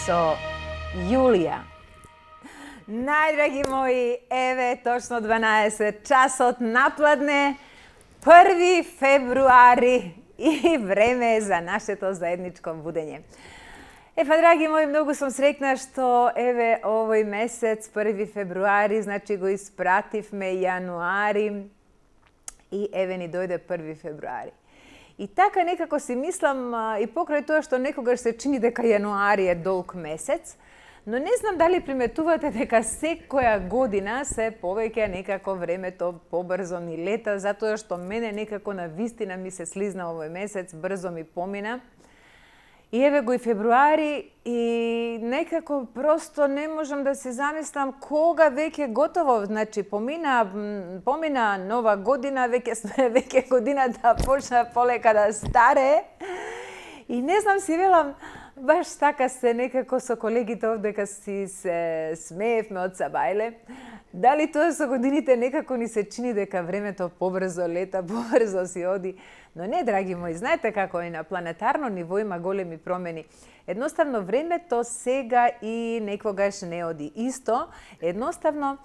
со Јулија. Најдраги мои, еве точно 12 часот напладне, 1 февруари и време е за нашето заедничко будење. Драги мои, многу сум среќна што еве овој месец, 1 февруари, значи го испративме јануари и еве ни дојде 1 февруари. И така некако си мислам и покрај тоа што некогаш се чини дека јануари е долг месец, но не знам дали приметувате дека секоја година се повеќе некако времето побрзо ни лета, затоа што мене некако на вистина ми се слизна овој месец, брзо ми помина. И еве го и февруари и некако просто не можам да се замислам кога веќе готово, значи помина нова година, веќе годината почна полека да старе. И не знам, си велам, баш така се некако со колегите овдека си се смеевме од Сабајле. Дали тоа со годините некако ни се чини дека времето побрзо лета, побрзо си оди. Но не, драги мои, знаете како и на планетарно ниво има големи промени. Едноставно времето сега и некогаш не оди исто, едноставно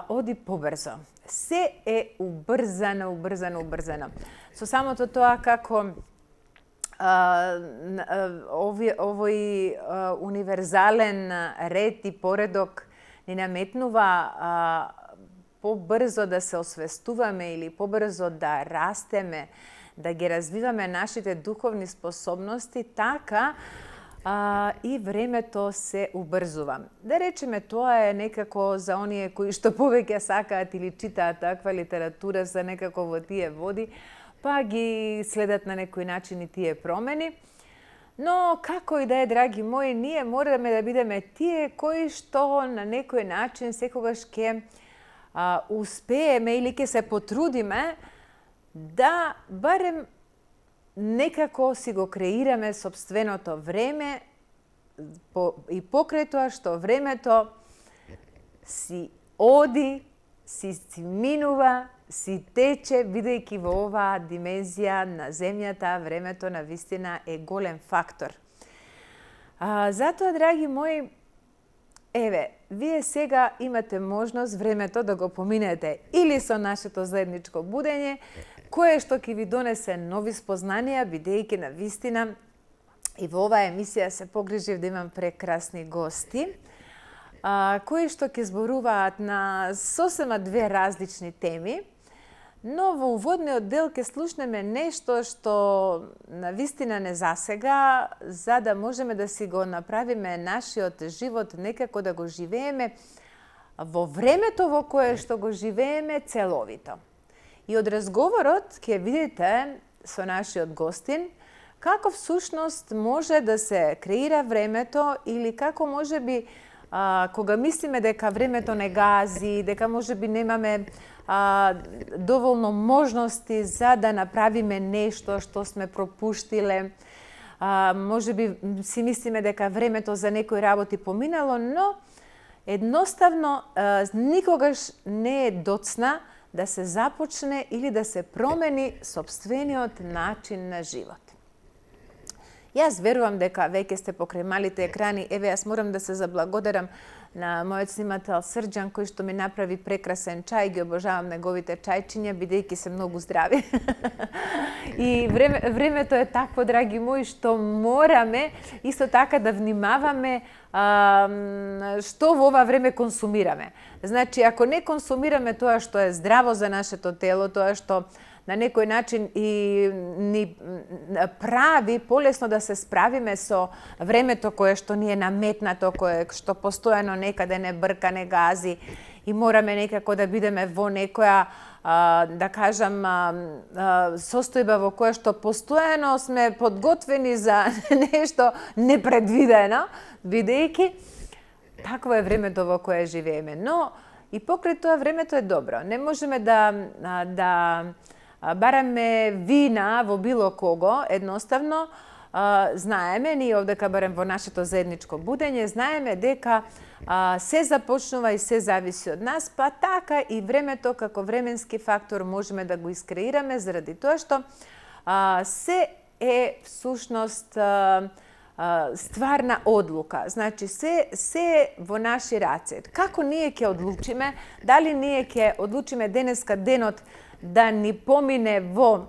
оди побрзо. Се е убрзано. Со самото тоа како овој универзален ред и поредок ни наметнува побрзо да се освестуваме или побрзо да растеме, да ги развиваме нашите духовни способности, така и времето се убрзува. Да речеме, тоа е некако за оние кои што повеќе сакаат или читаат таква литература за некако во тие води, па ги следат на некој начин и тие промени. Но, како и да е, драги мои, ние мораме да бидеме тие кои што на некој начин секогаш ќе успееме или ќе се потрудиме да барем некако си го креираме сопственото време и покрај тоа што времето си оди, си минува, си тече, бидејќи во оваа димензија на земјата, времето на вистина е голем фактор. Затоа, драги мои, еве, вие сега имате можност времето да го поминете или со нашето заедничко будење, кое што ќе ви донесе нови спознанија, бидејќи на вистина и во оваа емисија се погрижив да имам прекрасни гости, кои што ќе зборуваат на сосема две различни теми. Но во уводниот дел ќе слушнеме нешто што на вистина не засега, за да можеме да си го направиме нашиот живот некако да го живееме во времето во кое што го живееме целовито. И од разговорот ќе видите со нашиот гостин како всушност може да се креира времето или како можеби кога мислиме дека времето не гази, дека можеби немаме доволно можности за да направиме нешто што сме пропуштиле. Можеби си мислиме дека времето за некои работи поминало, но едноставно никогаш не е доцна да се започне или да се промени сопствениот начин на живот. Јас верувам дека веќе сте покрај малите екрани. Еве, јас морам да се заблагодарам на мојот снимател Срđan, кој што ми направи прекрасен чај. Ги обожавам неговите чајчиња, бидејќи се многу здрави. И времето е такво, драги мои, што мораме исто така да внимаваме што во ова време консумираме. Значи, ако не консумираме тоа што е здраво за нашето тело, тоа што на некој начин и ни прави полесно да се справиме со времето кое што ни е наметнато, кое што постојано некаде не брка, не гази и мораме некако да бидеме во некоја, да кажам, состојба во која што постојано сме подготвени за нешто непредвидено, бидејќи такво е времето во кое живееме. Но и покрај тоа времето е добро. Не можеме да бараме вина во било кого, едноставно знаеме, ние овдека барем во нашето заедничко будење, знаеме дека се започнува и се зависи од нас, па така и времето како временски фактор можеме да го искреираме заради тоа што се е всушност стварна одлука. Значи, се во наши раце. Како ние ќе одлучиме, дали ние ќе одлучиме денеска денот да ни помине во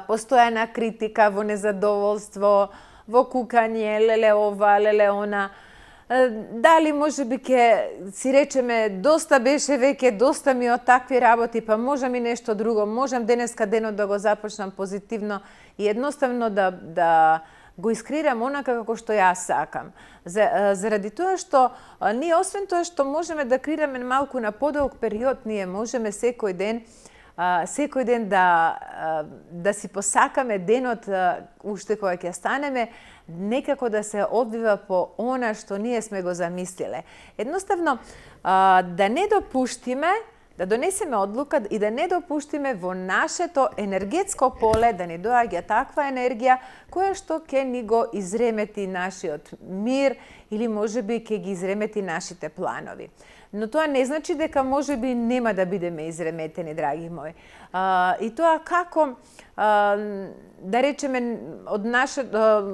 постојана критика, во незадоволство, во кукање, леле ова, леле она. Дали може би ќе си речеме доста беше веќе, доста ми од такви работи, па можам и нешто друго, можам денеска денот да го започнам позитивно и едноставно да го искреирам онака како што јас сакам. Заради тоа што ние освен тоа што можеме да креираме малку на подолг период, ние можеме секој ден да си посакаме денот уште кога ќе станеме некако да се одвива по она што ние сме го замислиле. Едноставно да не допуштиме, да донесеме одлука и да не допуштиме во нашето енергетско поле да ни доаѓа таква енергија која што ќе ни го изремети нашиот мир или можеби ќе ги изремети нашите планови. Но тоа не значи дека можеби нема да бидеме изреметени, драги мои. И тоа како, да речеме,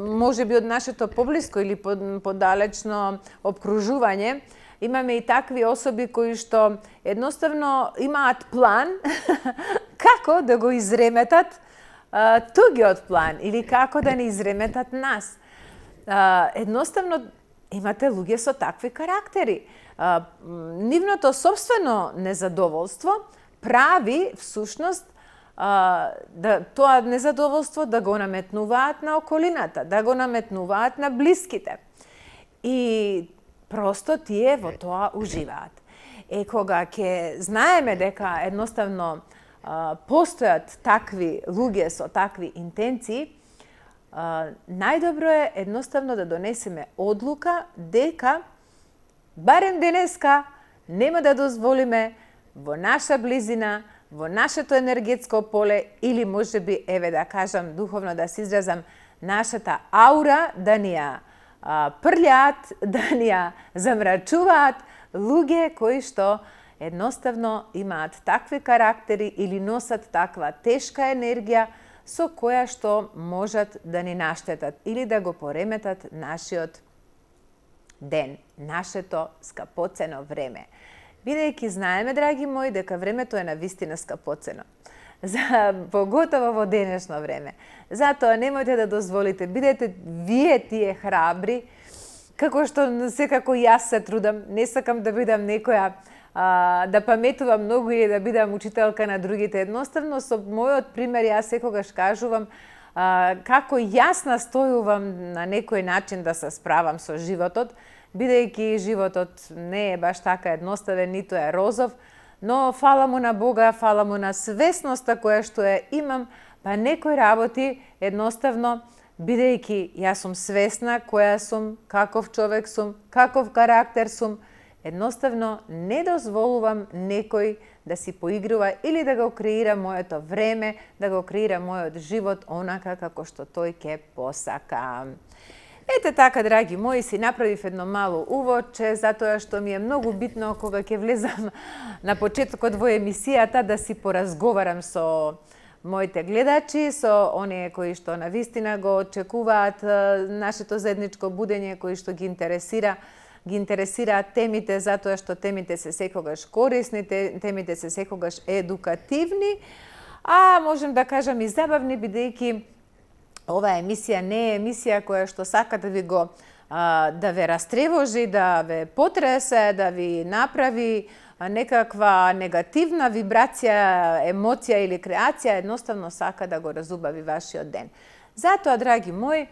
можеби од нашето поблиско или подалечно обкружување, имаме и такви особи кои што едноставно имаат план како да го изреметат тугиот план или како да ни изреметат нас. Едноставно имате луѓе со такви карактери. Нивното собствено незадоволство прави всушност тоа незадоволство да го наметнуваат на околината, да го наметнуваат на блиските. И просто тие во тоа уживаат. Кога ќе знаеме дека едноставно постојат такви луѓе со такви интенции, најдобро е едноставно да донесеме одлука дека барем денеска нема да дозволиме во наша близина, во нашето енергетско поле или можеби, еве да кажам, духовно да се изразам, нашата аура да ни ја прљаат, да ни ја замрачуваат луѓе кои што едноставно имаат такви карактери или носат таква тешка енергија со која што можат да ни наштетат или да го пореметат нашиот ден, нашето скапоцено време. Бидејќи знаеме, драги мои, дека времето е навистина скапоцено. Поготово во денешно време. Затоа немојте да дозволите, бидете вие тие храбри, како што секако јас се трудам, не сакам да бидам некоја да паметувам многу или да бидам учителка на другите. Едноставно, со мојот пример, јас секогаш кажувам како јас настојувам на некој начин да се справам со животот, бидејќи животот не е баш така едноставен, ниту е розов, но фала му на Бога, фала му на свесноста која што ја имам, па некои работи едноставно, бидејќи јас сум свесна која сум, каков човек сум, каков карактер сум, едноставно не дозволувам некој да си поигрува или да го креира моето време, да го креира мојот живот онака како што тој ќе посака. Ете така, драги мои, си направив едно мало уводче, затоа што ми е многу битно кога ќе влезам на почетокот во емисијата да си поразговарам со моите гледачи, со оние кои што навистина го очекуваат нашето заедничко будење, кои што ги интересираат темите, затоа што темите се секогаш корисни, темите се секогаш едукативни, а можем да кажам и забавни, бидејќи оваа емисија не е емисија која што сака да ви го да ве растревожи, да ве потресе, да ви направи некаква негативна вибрација, емоција или креација, едноставно сака да го разубави вашиот ден. Затоа, драги мои,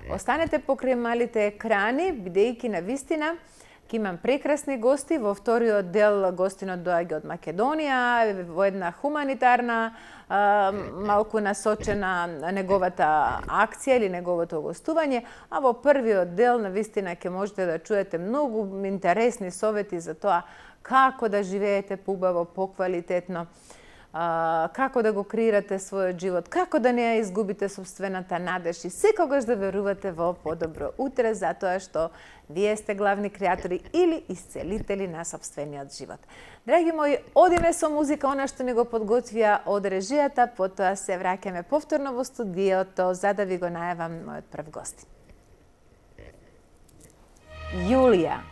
останете покрај малите екрани, бидејќи навистина ќе имам прекрасни гости. Во вториот дел гостинот доаѓа од Македонија, во една хуманитарна, малку насочена неговата акција или неговото гостување, а во првиот дел навистина ќе можете да чуете многу интересни совети за тоа како да живеете поубаво, поквалитетно, како да го креирате својот живот, како да не ја изгубите собствената надеж и секогаш да верувате во подобро утре, затоа што вие сте главни креатори или исцелители на собствениот живот. Драги мои, одиме со музика, она што ни го подготвија од режијата, потоа се враќаме повторно во студиото за да ви го најавам мојот прв гостин. Јулија.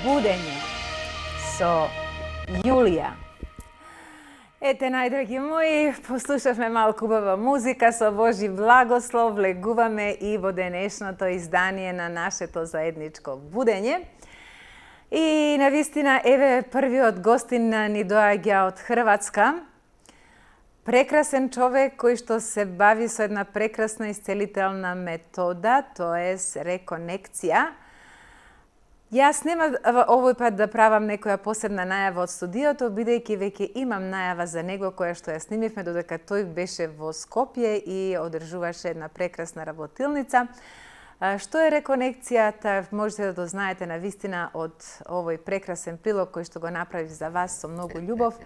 Будење со Јулија. Ете, најдраги мои, послушавме малку убава музика, со Божи благослов влегуваме и во денешното издание на нашето заедничко будење. И навистина, еве, првиот гостин ни доаѓа од Хрватска. Прекрасен човек кој што се бави со една прекрасна исцелителна метода, тоест реконекција. Јас нема овој пат да правам некоја посебна најава од студиото, бидејќи веќе имам најава за него која што ја снимивме додека тој беше во Скопје и одржуваше една прекрасна работилница. Што е реконекцијата, можете да дознаете навистина од овој прекрасен прилог кој што го направив за вас со многу љубов.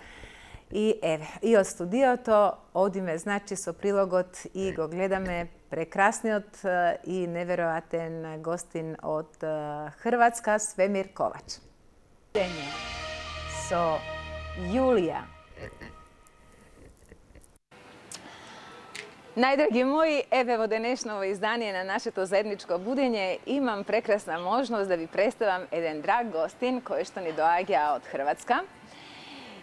И еве, и од студиото одиме, значи, со прилогот и го гледаме прекрасниот и неверојатен гостин од Хрватска, Свемир Ковач. Будење со Јулија. Најдраги мои, еве во денешново издание на нашето заедничко будење имам прекрасна можност да ви представам еден драг гостин кој што ни доаѓа од Хрватска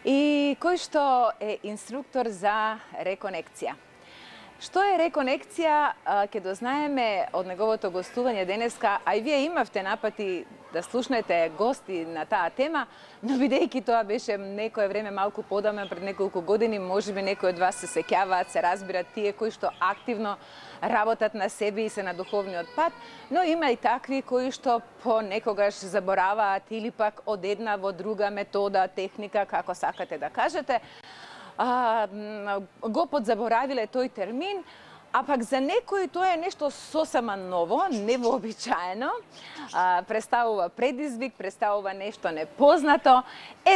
и кој што е инструктор за реконекција. Што е реконекција, ќе дознаеме од неговото гостување денеска, а и вие имавте напати да слушнете гости на таа тема, но бидејќи тоа беше некое време малку подамна, пред неколку години, можеби некои од вас се сеќаваат, се разбират тие кои што активно работат на себе и се на духовниот пат, но има и такви кои што понекогаш забораваат или пак од една во друга метода, техника, како сакате да кажете, го подзаборавиле тој термин, а пак за некои тоа е нешто сосема ново, невообичаено, представува предизвик, представува нешто непознато.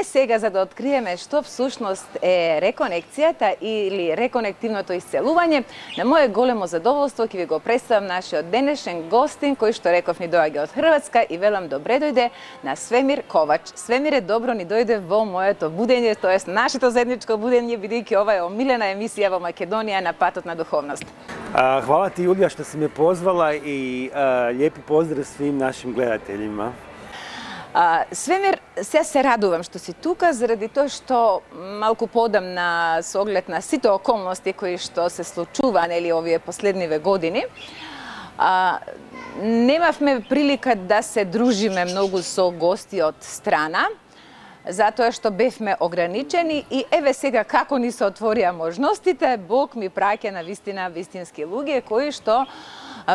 Сега за да откриеме што всушност е реконекцијата или реконективното исцелување, на мое големо задоволство ќе ви го представам нашиот денешен гостин, кој што реков ни доаѓа од Хрватска и велам добре дојде на Свемир Ковач. Свемире, добро ни дојде во моето будење, тоест нашето заедничко будење, бидејќи ова е омилена емисија во Македонија на патот на духовност. Hvala ti, Julija, što si me pozvala i lijepi pozdrav svim našim gledateljima. Свемир, се радувам што си тука, заради тоа што малку подамна со оглед на сите околности кои што се случува, нели, овие последниве години, немавме прилика да се дружиме многу со гости од страна, затоа што бевме ограничени и еве сега како ни се отворија можностите, Бог ми праќа на вистина вистински луѓе кои што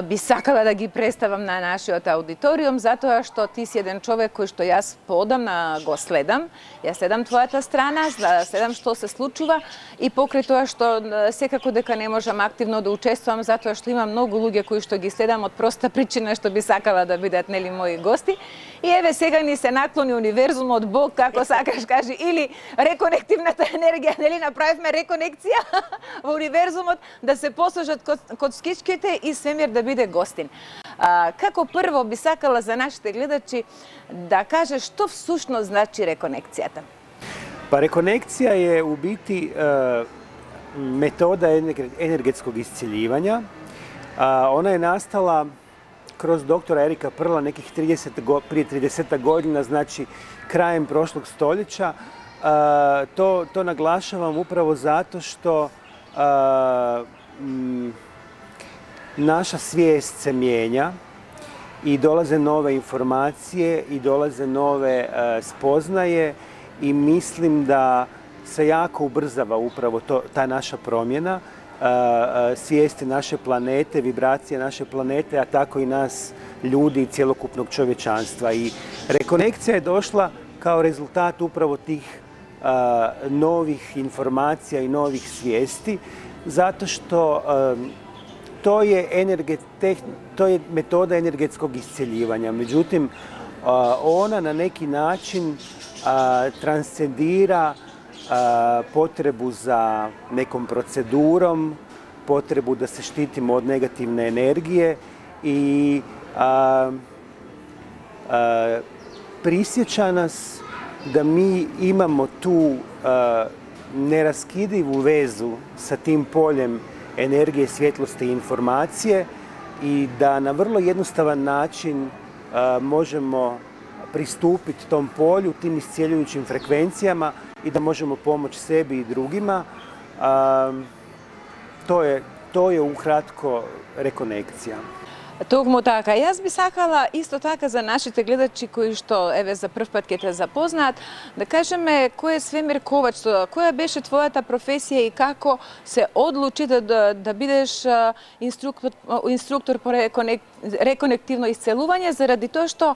би сакала да ги представам на нашиот аудиториум, затоа што ти си еден човек кој што јас поодамна го следам. Јас следам твојата страна, следам што се случува и покрај тоа што секако дека не можам активно да учествувам, затоа што има многу луѓе кои што ги следам од проста причина што би сакала да бидат, нели, мои гости. И еве сега ни се наклони универзумот, Бог, како сакаш кажи, или реконективната енергија, нели, направивме реконекција во универзумот да се посложат коцкичките и Свемир да биде гостин. Како прво би сакала за нашите гледачи да каже што всушност значи реконекцијата? Pa rekonekcija je u biti metoda energetskog iscjeljivanja. Ona je nastala kroz doktora Erika Perla nekih prije 30 godina, znači krajem prošlog stoljeća. To naglašavam upravo zato što naša svijest se mijenja i dolaze nove informacije i dolaze nove spoznaje i mislim da se jako ubrzava upravo ta naša promjena svijesti naše planete, vibracije naše planete, a tako i nas ljudi i cjelokupnog čovječanstva. I rekonekcija je došla kao rezultat upravo tih novih informacija i novih svijesti, zato što to je metoda energetskog iscjeljivanja. Međutim, ona na neki način transcendira potrebu za nekom procedurom, potrebu da se štitimo od negativne energije i prisjeća nas da mi imamo tu neraskidivu vezu sa tim poljem energije, svjetlosti i informacije i da na vrlo jednostavan način možemo pristupiti tom polju, tim iscijeljujućim frekvencijama i da možemo pomoći sebi i drugima. To je ukratko rekonekcija. Тогму така. Јас би сакала исто така за нашите гледачи кои што еве за прв пат ќе те запознаат, да кажеме кој е Свемир Ковач, која беше твојата професија и како се одлучи да бидеш инструктор по реконективно исцелување, заради тоа што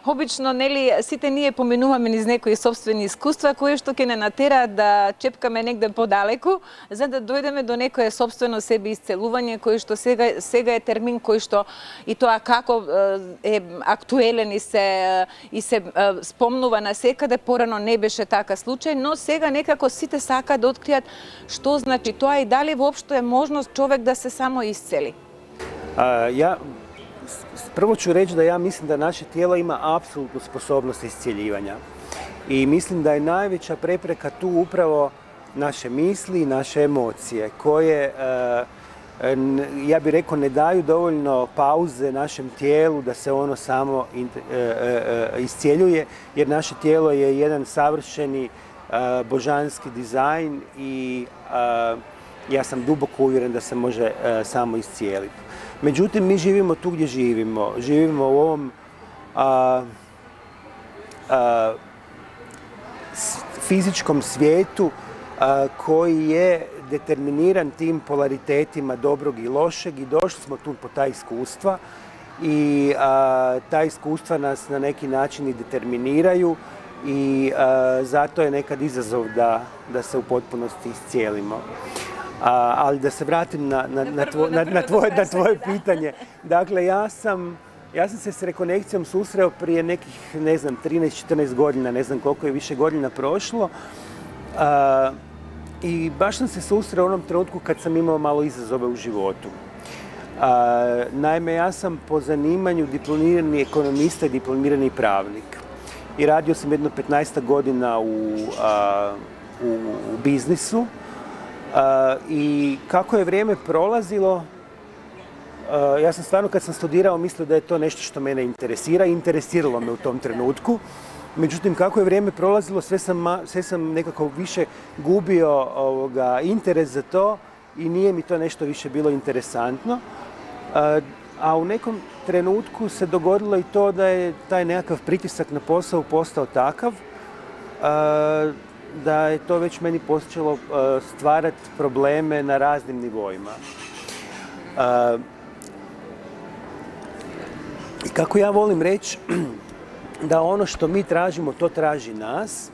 обично, нели, сите ние поминуваме низ некои собствени искуства кои што ќе не натераат да чепкаме негде подалеку, за да дојдеме до некое собствено себе исцелување кој што сега е термин кој што и тоа како е актуелен и се спомнува на секаде, порано не беше така случај, но сега некако сите сакаат да откријат што значи тоа и дали воопшто е можност човек да се само исцели. Prvo ću reći da ja mislim da naše tijelo ima apsolutnu sposobnost iscjeljivanja i mislim da je najveća prepreka tu upravo naše misli i naše emocije koje ja bih rekao ne daju dovoljno pauze našem tijelu da se ono samo iscjeljuje, jer naše tijelo je jedan savršeni božanski dizajn i ja sam duboko uvjeren da se može samo iscijeliti. Međutim, mi živimo tu gdje živimo. Živimo u ovom fizičkom svijetu koji je determiniran tim polaritetima dobrog i lošeg i došli smo tu po ta iskustva i ta iskustva nas na neki način i determiniraju i zato je nekad izazov da se u potpunosti iscijelimo. Ali da se vratim na tvoje pitanje. Dakle, ja sam se s rekonekcijom susreo prije nekih, ne znam, 13-14 godina, ne znam koliko je više godina prošlo. I baš sam se susreo u onom trenutku kad sam imao malo izazove u životu. Naime, ja sam po zanimanju diplomirani ekonomista i diplomirani pravnik. I radio sam jedno 15 godina u biznisu. I kako je vrijeme prolazilo, ja sam stvarno kad sam studirao mislio da je to nešto što mene interesira i interesiralo me u tom trenutku. Međutim, kako je vrijeme prolazilo, sve sam nekako više gubio interes za to i nije mi to nešto više bilo interesantno. A u nekom trenutku se dogodilo i to da je taj nekakav pritisak na posao postao takav da je to već meni počelo stvarati probleme na raznim nivoima. I kako ja volim reći da ono što mi tražimo, to traži nas,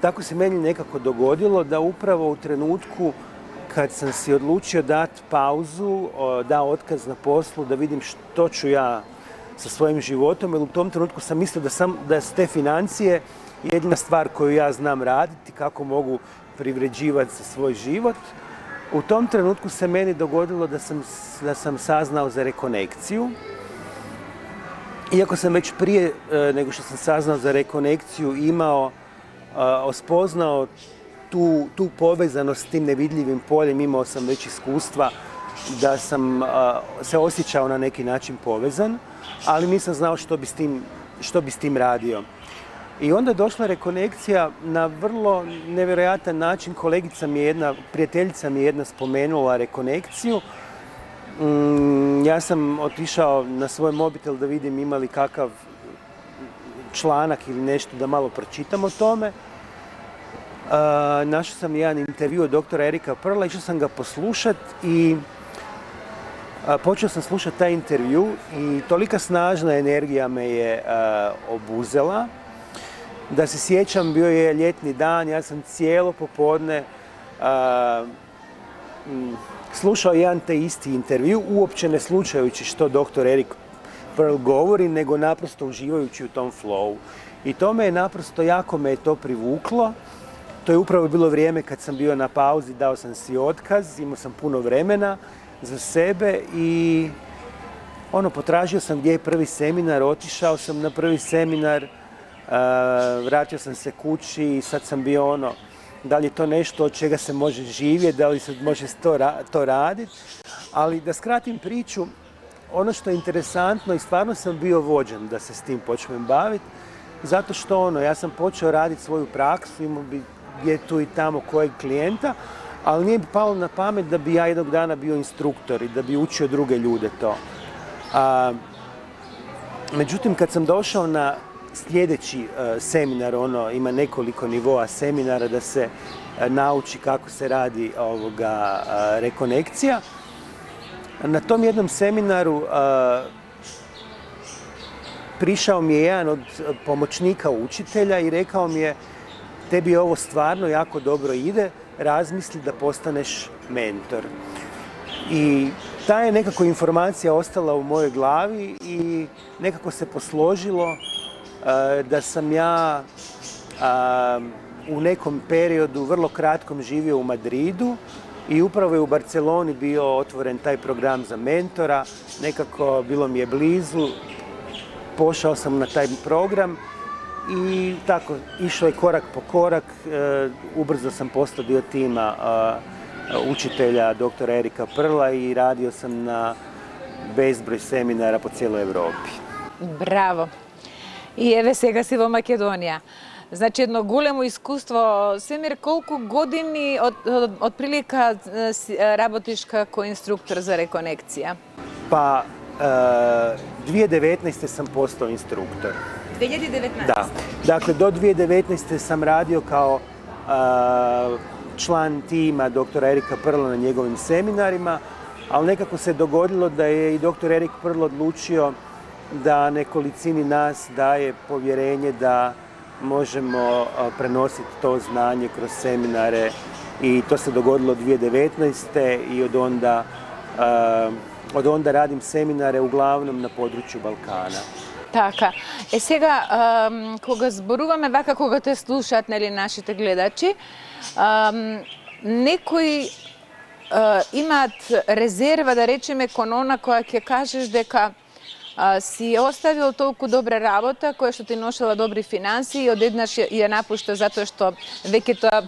tako se meni nekako dogodilo da upravo u trenutku kad sam si odlučio dati pauzu, dao otkaz na poslu, da vidim što ću ja sa svojim životom, jer u tom trenutku sam mislio da su te financije jedina stvar koju ja znam raditi, kako mogu privređivati za svoj život. U tom trenutku se meni dogodilo da sam saznao za rekonekciju. Iako sam već prije nego što sam saznao za rekonekciju spoznao tu povezanost s tim nevidljivim poljem, imao sam već iskustva da sam se osjećao na neki način povezan, ali nisam znao što bi s tim radio. I onda je došla rekonekcija na vrlo nevjerojatan način. Prijateljica mi je jedna spomenula rekonekciju. Ja sam otišao na svoj mobitel da vidim ima li kakav članak ili nešto da malo pročitam o tome. Našao sam jedan intervju od doktora Erika Perla, išao sam ga poslušati i počeo sam slušati taj intervju i tolika snažna energija me je obuzela. Da se sjećam, bio je ljetni dan, ja sam cijelo popodne slušao jedan te isti intervju, uopće ne slušajući što doktor Erik Pearl govori, nego naprosto uživajući u tom flowu. I to me je naprosto, jako me je to privuklo. To je upravo bilo vrijeme kad sam bio na pauzi, dao sam si otkaz, imao sam puno vremena za sebe i potražio sam gdje je prvi seminar, otišao sam na prvi seminar, vratio sam se kući i sad sam bio da li je to nešto od čega se može živjeti, da li se može to raditi. Ali da skratim priču, ono što je interesantno i stvarno sam bio vođen da se s tim počnem baviti, zato što ja sam počeo raditi svoju praksu, imao bi gdje tu i tamo kojeg klijenta, ali nije mi palo na pamet da bi ja jednog dana bio instruktor i da bi učio druge ljude to. Međutim, kad sam došao na sljedeći seminar, ima nekoliko nivoa seminara da se nauči kako se radi rekonekcija. Na tom jednom seminaru prišao mi je jedan od pomoćnika učitelja i rekao mi je: tebi ovo stvarno jako dobro ide, razmisli da postaneš mentor. I ta je nekako informacija ostala u mojoj glavi i nekako se posložilo da sam ja u nekom periodu vrlo kratkom živio u Madridu i upravo je u Barceloni bio otvoren taj program za mentora. Nekako bilo mi je blizu, pošao sam na taj program i tako išao je korak po korak. Ubrzo sam postao dio tima učitelja doktora Erika Perla i radio sam na bezbroj seminara po cijeloj Evropi. Браво! И еве сега си во Македонија. Значи едно големо искуство. Семир, колку години од прилика работиш како инструктор за реконекција? Pa 2019. sam postao instruktor. 2019? Da. Dakle, do 2019. sam radio kao član tima doktora Erika Prla na njegovim seminarima, ali nekako se dogodilo da je i doktor Erik Prl odlučio da nekolicini nas daje povjerenje da možemo prenositi to znanje kroz seminare i to se dogodilo 2019. i od onda radim seminare uglavnom na području Balkana. Така. Сега, кога зборуваме вака, кога те слушаат, нели, нашите гледачи, некои имаат резерва, да речеме, кон она која ќе кажеш дека си оставил толку добра работа, која што ти ношела добри финанси и одеднаш ја напушта затоа што веќе тоа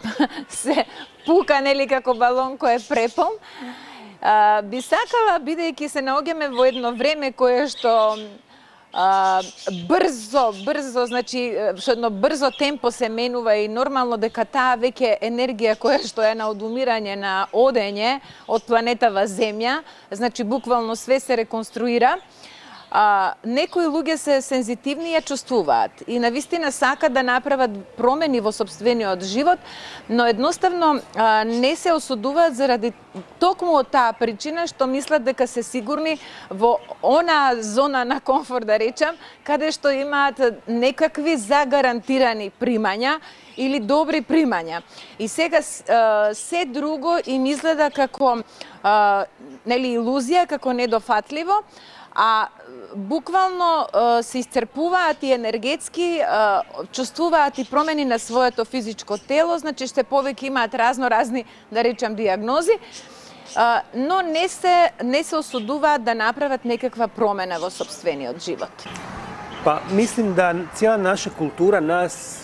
се пука, нели, како балон кој е препон. Би сакала, бидејќи се наоѓаме во едно време кое што брзо, значи, со едно брзо темпо се менува и нормално дека таа веќе енергија која што е на одумирање, на одење од планетава Земја, значи буквално све се реконструира. Некои луѓе се сензитивни и ја чувствуваат и навистина сакат да направат промени во сопствениот живот, но едноставно не се осудуваат заради токму од таа причина што мислат дека се сигурни во она зона на комфорт, да речам, каде што имаат некакви загарантирани примања или добри примања. И сега се друго им изгледа како нели илузија, како недофатливо, а буквално се исцрпуваат и енергетски, чувствуваат и промени на своето физичко тело, значи што повеќе имаат разни, да речам, диагнози, но не се осудуваат да направат некаква промена во сопствениот живот. Pa mislim da cijela naša kultura nas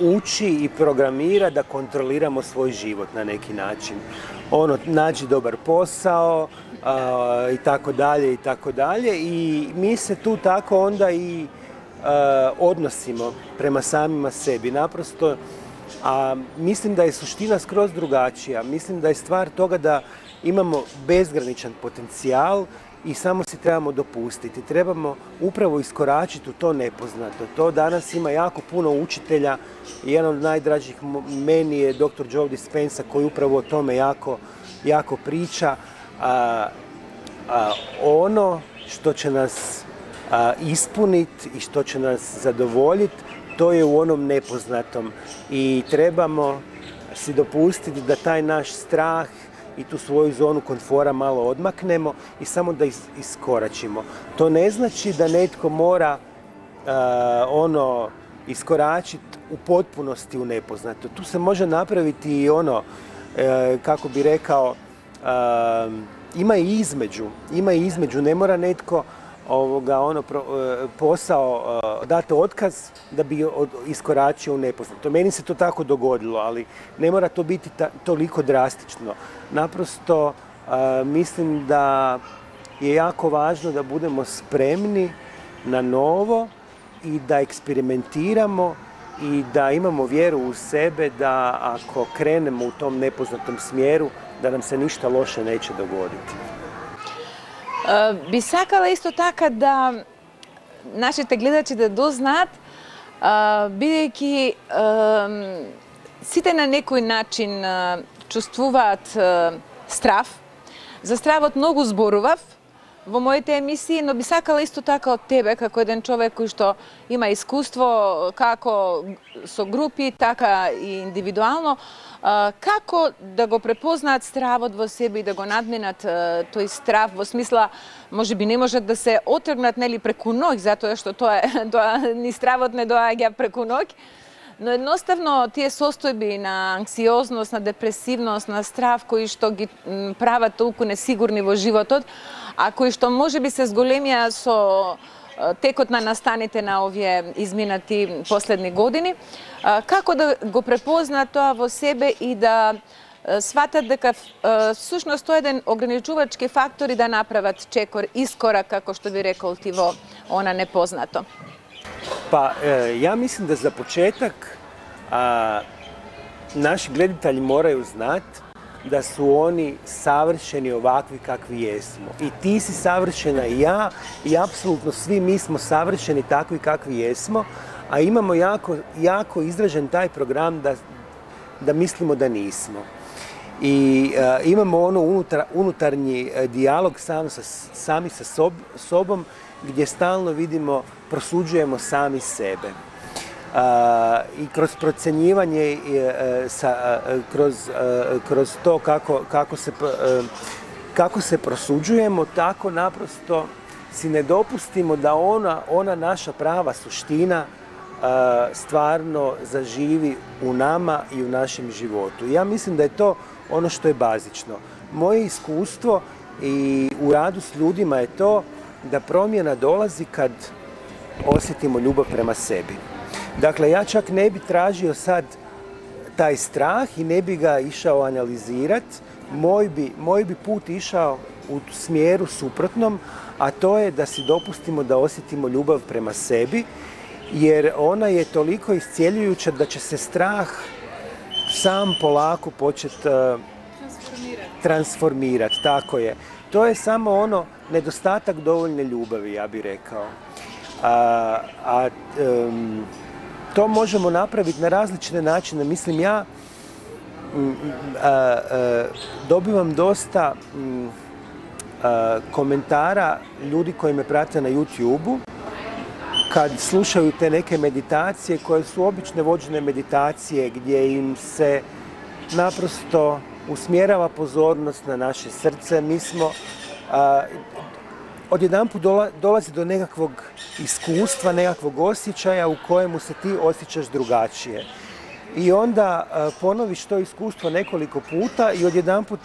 uči i programira da kontroliramo svoj život na neki način. Nađi dobar posao, i tako dalje i tako dalje i mi se tu tako onda i odnosimo prema samima sebi. Naprosto, mislim da je suština skroz drugačija. Mislim da je stvar toga da imamo bezgraničan potencijal i samo si trebamo dopustiti. Trebamo upravo iskoračiti u to nepoznato. To danas ima jako puno učitelja i jedan od najdražih meni je dr. Joe Dispenza koji upravo o tome jako priča. Ono što će nas ispuniti i što će nas zadovoljiti, to je u onom nepoznatom i trebamo si dopustiti da taj naš strah i tu svoju zonu komfora malo odmaknemo i samo da iskoračimo. To ne znači da netko mora iskoračiti u potpunosti u nepoznato. Tu se može napraviti i kako bi rekao, ima i između, ne mora netko posao dati otkaz da bi iskoračio u nepoznato. Meni se to tako dogodilo, ali ne mora to biti toliko drastično. Naprosto mislim da je jako važno da budemo spremni na novo i da eksperimentiramo i da imamo vjeru u sebe da ako krenemo u tom nepoznatom smjeru, da nam se ništa loše neće dogoditi. Би сакала исто така да нашите гледачи да дознаат, бидејќи сите на некој начин чувствуваат страв. За стравот многу зборував во моите емисии, но би сакала исто така од тебе, како еден човек кој што има искуство како со групи, така и индивидуално, како да го препознаат стравот во себе и да го надминат тој страв, во смисла, може би не можат да се отргнат, нели, преку ноќ, затоа што ни стравот не доаѓа преку ноќ, но едноставно тие состојби на анксиозност, на депресивност, на страв кои што ги прават толку несигурни во животот, а кои што може би се зголемија со текот на настаните на овие изминати последни години, како да го препознаат тоа во себе и да сватат дека всушност тоа е еден ограничувачки фактор и да направат искорак, како што би рекол ти, во она непознато? Pa ja mislim da za početak naši gledatelji moraju znati da su oni savršeni ovakvi kakvi jesmo. I ti si savršena i ja i apsolutno svi mi smo savršeni takvi kakvi jesmo, a imamo jako izražen taj program da mislimo da nismo. I imamo ono unutarnji dijalog sami sa sobom gdje stalno vidimo, prosuđujemo sami sebe. I kroz procjenjivanje, kroz to kako se prosuđujemo, tako naprosto si ne dopustimo da ona naša prava suština stvarno zaživi u nama i u našem životu. Ja mislim da je to ono što je bazično. Moje iskustvo i u radu s ljudima je to da promjena dolazi kad osjetimo ljubav prema sebi. Dakle, ja čak ne bi tražio sad taj strah i ne bi ga išao analizirati. Moj bi put išao u smjeru suprotnom, a to je da si dopustimo da osjetimo ljubav prema sebi, jer ona je toliko iscjeljujuća da će se strah sam polako početi transformirati. Tako je. To je samo ono nedostatak dovoljne ljubavi, ja bih rekao. To možemo napraviti na različite načine. Mislim, ja dobivam dosta komentara ljudi koji me prate na YouTube-u kad slušaju te neke meditacije koje su obične vođene meditacije gdje im se naprosto usmjerava pozornost na naše srce. Mi smo odjedanput dolazi do nekakvog iskustva, nekakvog osjećaja u kojemu se ti osjećaš drugačije. I onda ponoviš to iskustvo nekoliko puta i odjedanput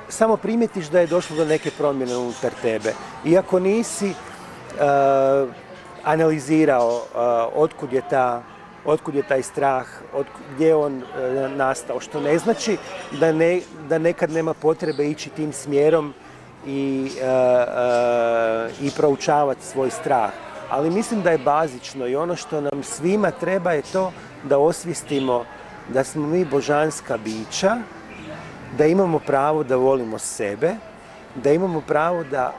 samo primijetiš da je došlo do neke promjene unutar tebe. Iako nisi analizirao otkud je taj strah, gdje je on nastao, što ne znači da nekad nema potrebe ići tim smjerom i proučavati svoj strah. Ali mislim da je bazično i ono što nam svima treba je to da osvijestimo da smo mi božanska bića, da imamo pravo da volimo sebe, da imamo pravo da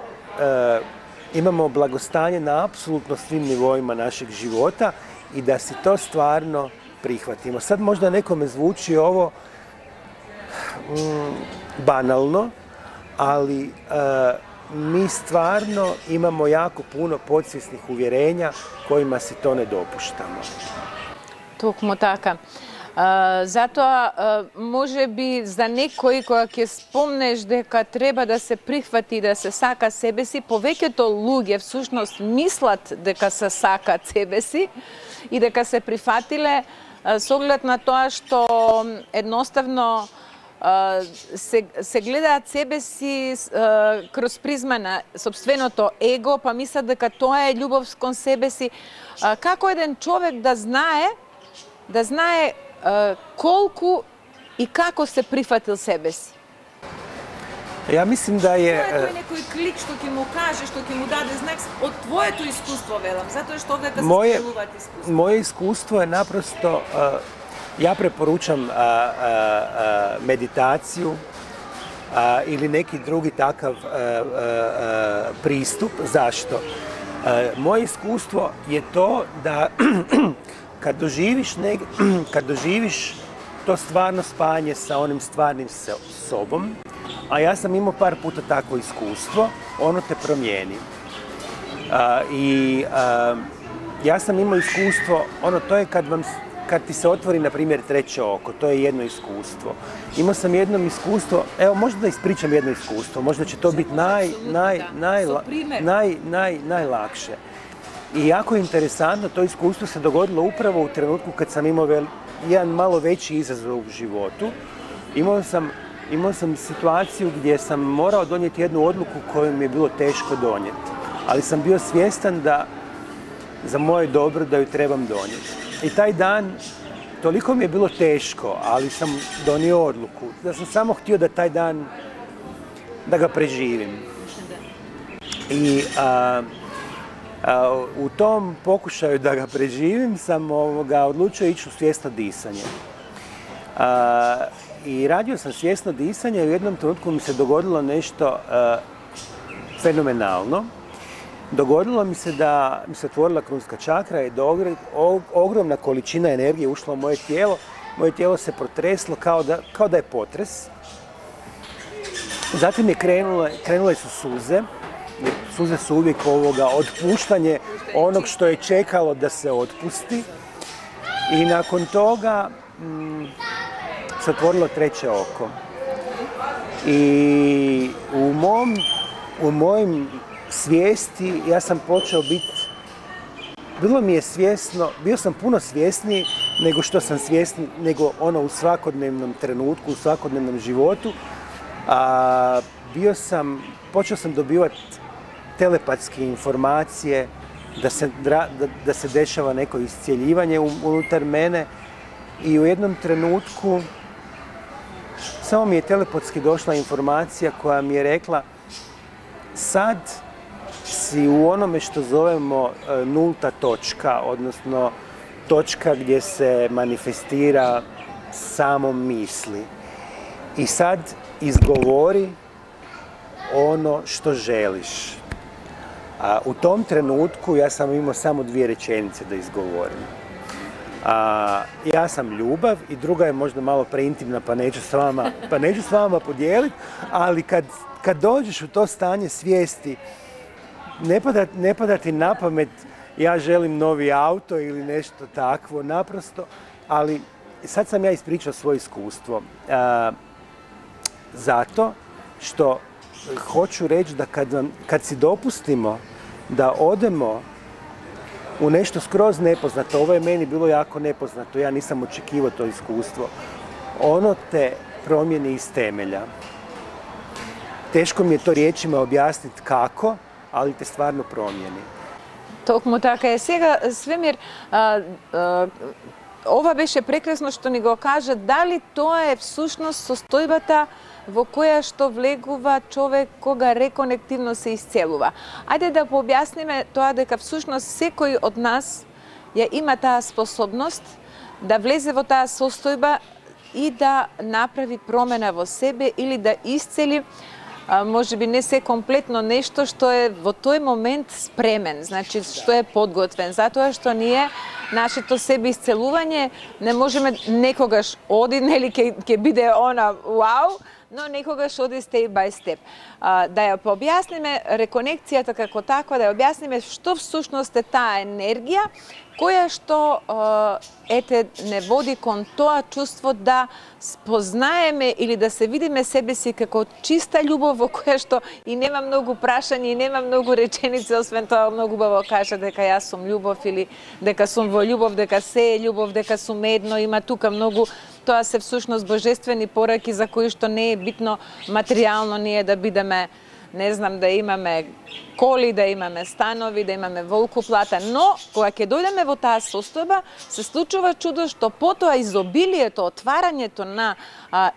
imamo blagostanje na apsolutno svim nivoima našeg života i da si to stvarno prihvatimo. Sad možda nekome zvuči ovo banalno, ali mi stvarno imamo jako puno podsvjesnih uvjerenja kojima si to ne dopuštamo. Токму така. Затоа, може би за некој кога ќе спомнеш дека треба да се прихвати, да се сака себе си, повеќето луѓе всушност мислат дека се сакат себе си и дека се прифатиле со оглед на тоа што едноставно се гледаат себе си кроз призма на сопственото его, па мислат дека тоа е љубов кон себе си. Како еден човек да знае колку и како се прифатил себе си? Ja mislim da je... Тоа е некој клик што ќе му каже, што ќе му даде знак од твоето искуство, велам, затоа што овдека се споделуваат искуство. Moje iskustvo je naprosto, ja preporučam meditaciju ili neki drugi takav pristup. Zašto? Moje iskustvo je to da kad doživiš to stvarno spajanje sa onim stvarnim sobom, a ja sam imao par puta takvo iskustvo, ono te promijeni. Ja sam imao iskustvo, to je kad ti se otvori, na primjer, treće oko, to je jedno iskustvo. Imao sam jedno iskustvo, evo možda da ispričam jedno iskustvo, možda će to biti najlakše. I jako je interesantno, to iskustvo se dogodilo upravo u trenutku kad sam imao jedan malo veći izazov u životu. Imao sam situaciju gdje sam morao donijeti jednu odluku koju mi je bilo teško donijeti. Ali sam bio svjestan da za moje dobro da ju trebam donijeti. I taj dan, toliko mi je bilo teško, ali sam donio odluku. Da sam samo htio da taj dan, da ga preživim. I U tom pokušaju da ga preživim sam odlučio ići u svjesno disanje. I radio sam svjesno disanje i u jednom trenutku mi se dogodilo nešto fenomenalno. Dogodilo mi se da mi se otvorila krunska čakra i da ogromna količina energije ušla u moje tijelo. Moje tijelo se protreslo kao da je potres. Zatim je krenule su suze. Jer suze su uvijek otpuštanje onog što je čekalo da se otpusti. I nakon toga se otvorilo treće oko. I u mojim svijesti ja sam počeo biti, bio sam puno svjesniji nego što sam svjesni, nego u svakodnevnom trenutku, u svakodnevnom životu. Počeo sam dobivati telepatske informacije, da se dešava neko iscjeljivanje unutar mene i u jednom trenutku samo mi je telepatski došla informacija koja mi je rekla sad si u onome što zovemo nulta točka, odnosno točka gdje se manifestira samo misli. I sad izgovori ono što želiš. U tom trenutku ja sam imao samo 2 rečenice da izgovorim. Ja sam ljubav i druga je možda malo preintimna pa neću s vama podijeliti, ali kad dođeš u to stanje svijesti, ne pada ti na pamet ja želim novi auto ili nešto takvo, naprosto, ali sad sam ja ispričao svoje iskustvo. Zato što hoću reći da kad si dopustimo da odemo u nešto skroz nepoznato, ovo je meni bilo jako nepoznato, ja nisam očekivao to iskustvo, ono te promijeni iz temelja. Teško mi je to riječima objasniti kako, ali te stvarno promijeni. Токму така е. Сега, Свемир, ова беше прекрасно што ни го кажа, дали тоа е всушност состојбата во која што влегува човек кога реконективно се исцелува. Ајде да пообјасниме тоа дека всушност секој од нас ја има таа способност да влезе во таа состојба и да направи промена во себе или да исцели може би не се комплетно нешто што е во тој момент спремен, значи што е подготвен, затоа што ние нашето себе исцелување не можеме некогаш оди, нели ќе биде она вау, но некогаш оди степ бај степ. Да ја пообјасниме реконекцијата како таква, да ја објасниме што всушност е таа енергија која што не води кон тоа чувство да спознаеме или да се видиме себе си како чиста љубов во која што и нема многу прашања и нема многу реченици, освен тоа многу убаво кажа дека јас сум љубов или дека сум во љубов, дека се е љубов, дека сум едно, има тука многу. Тоа се всушност божествени пораки за кои што не е битно материјално ние да бидеме, не знам, да имаме коли, да имаме станови, да имаме волкоплата, но кога ќе дојдеме во таа состојба, се случува чудо што потоа изобилието, отварањето на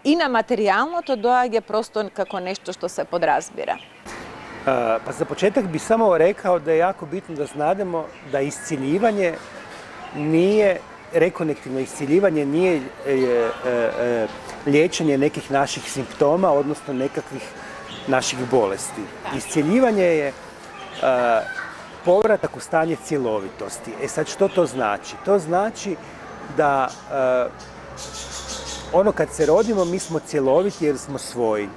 и на материјалното доаѓа просто како нешто што се подразбира. Pa za početak bi samo rekao da je jako bitno da znademo da isciljivanje nije, rekonektivno isciljivanje nije liječenje nekih naših simptoma, odnosno nekakvih naših bolesti. Iscijeljivanje je povratak u stanje cjelovitosti. E sad, što to znači? To znači da ono kad se rodimo mi smo cjeloviti jer smo svoji,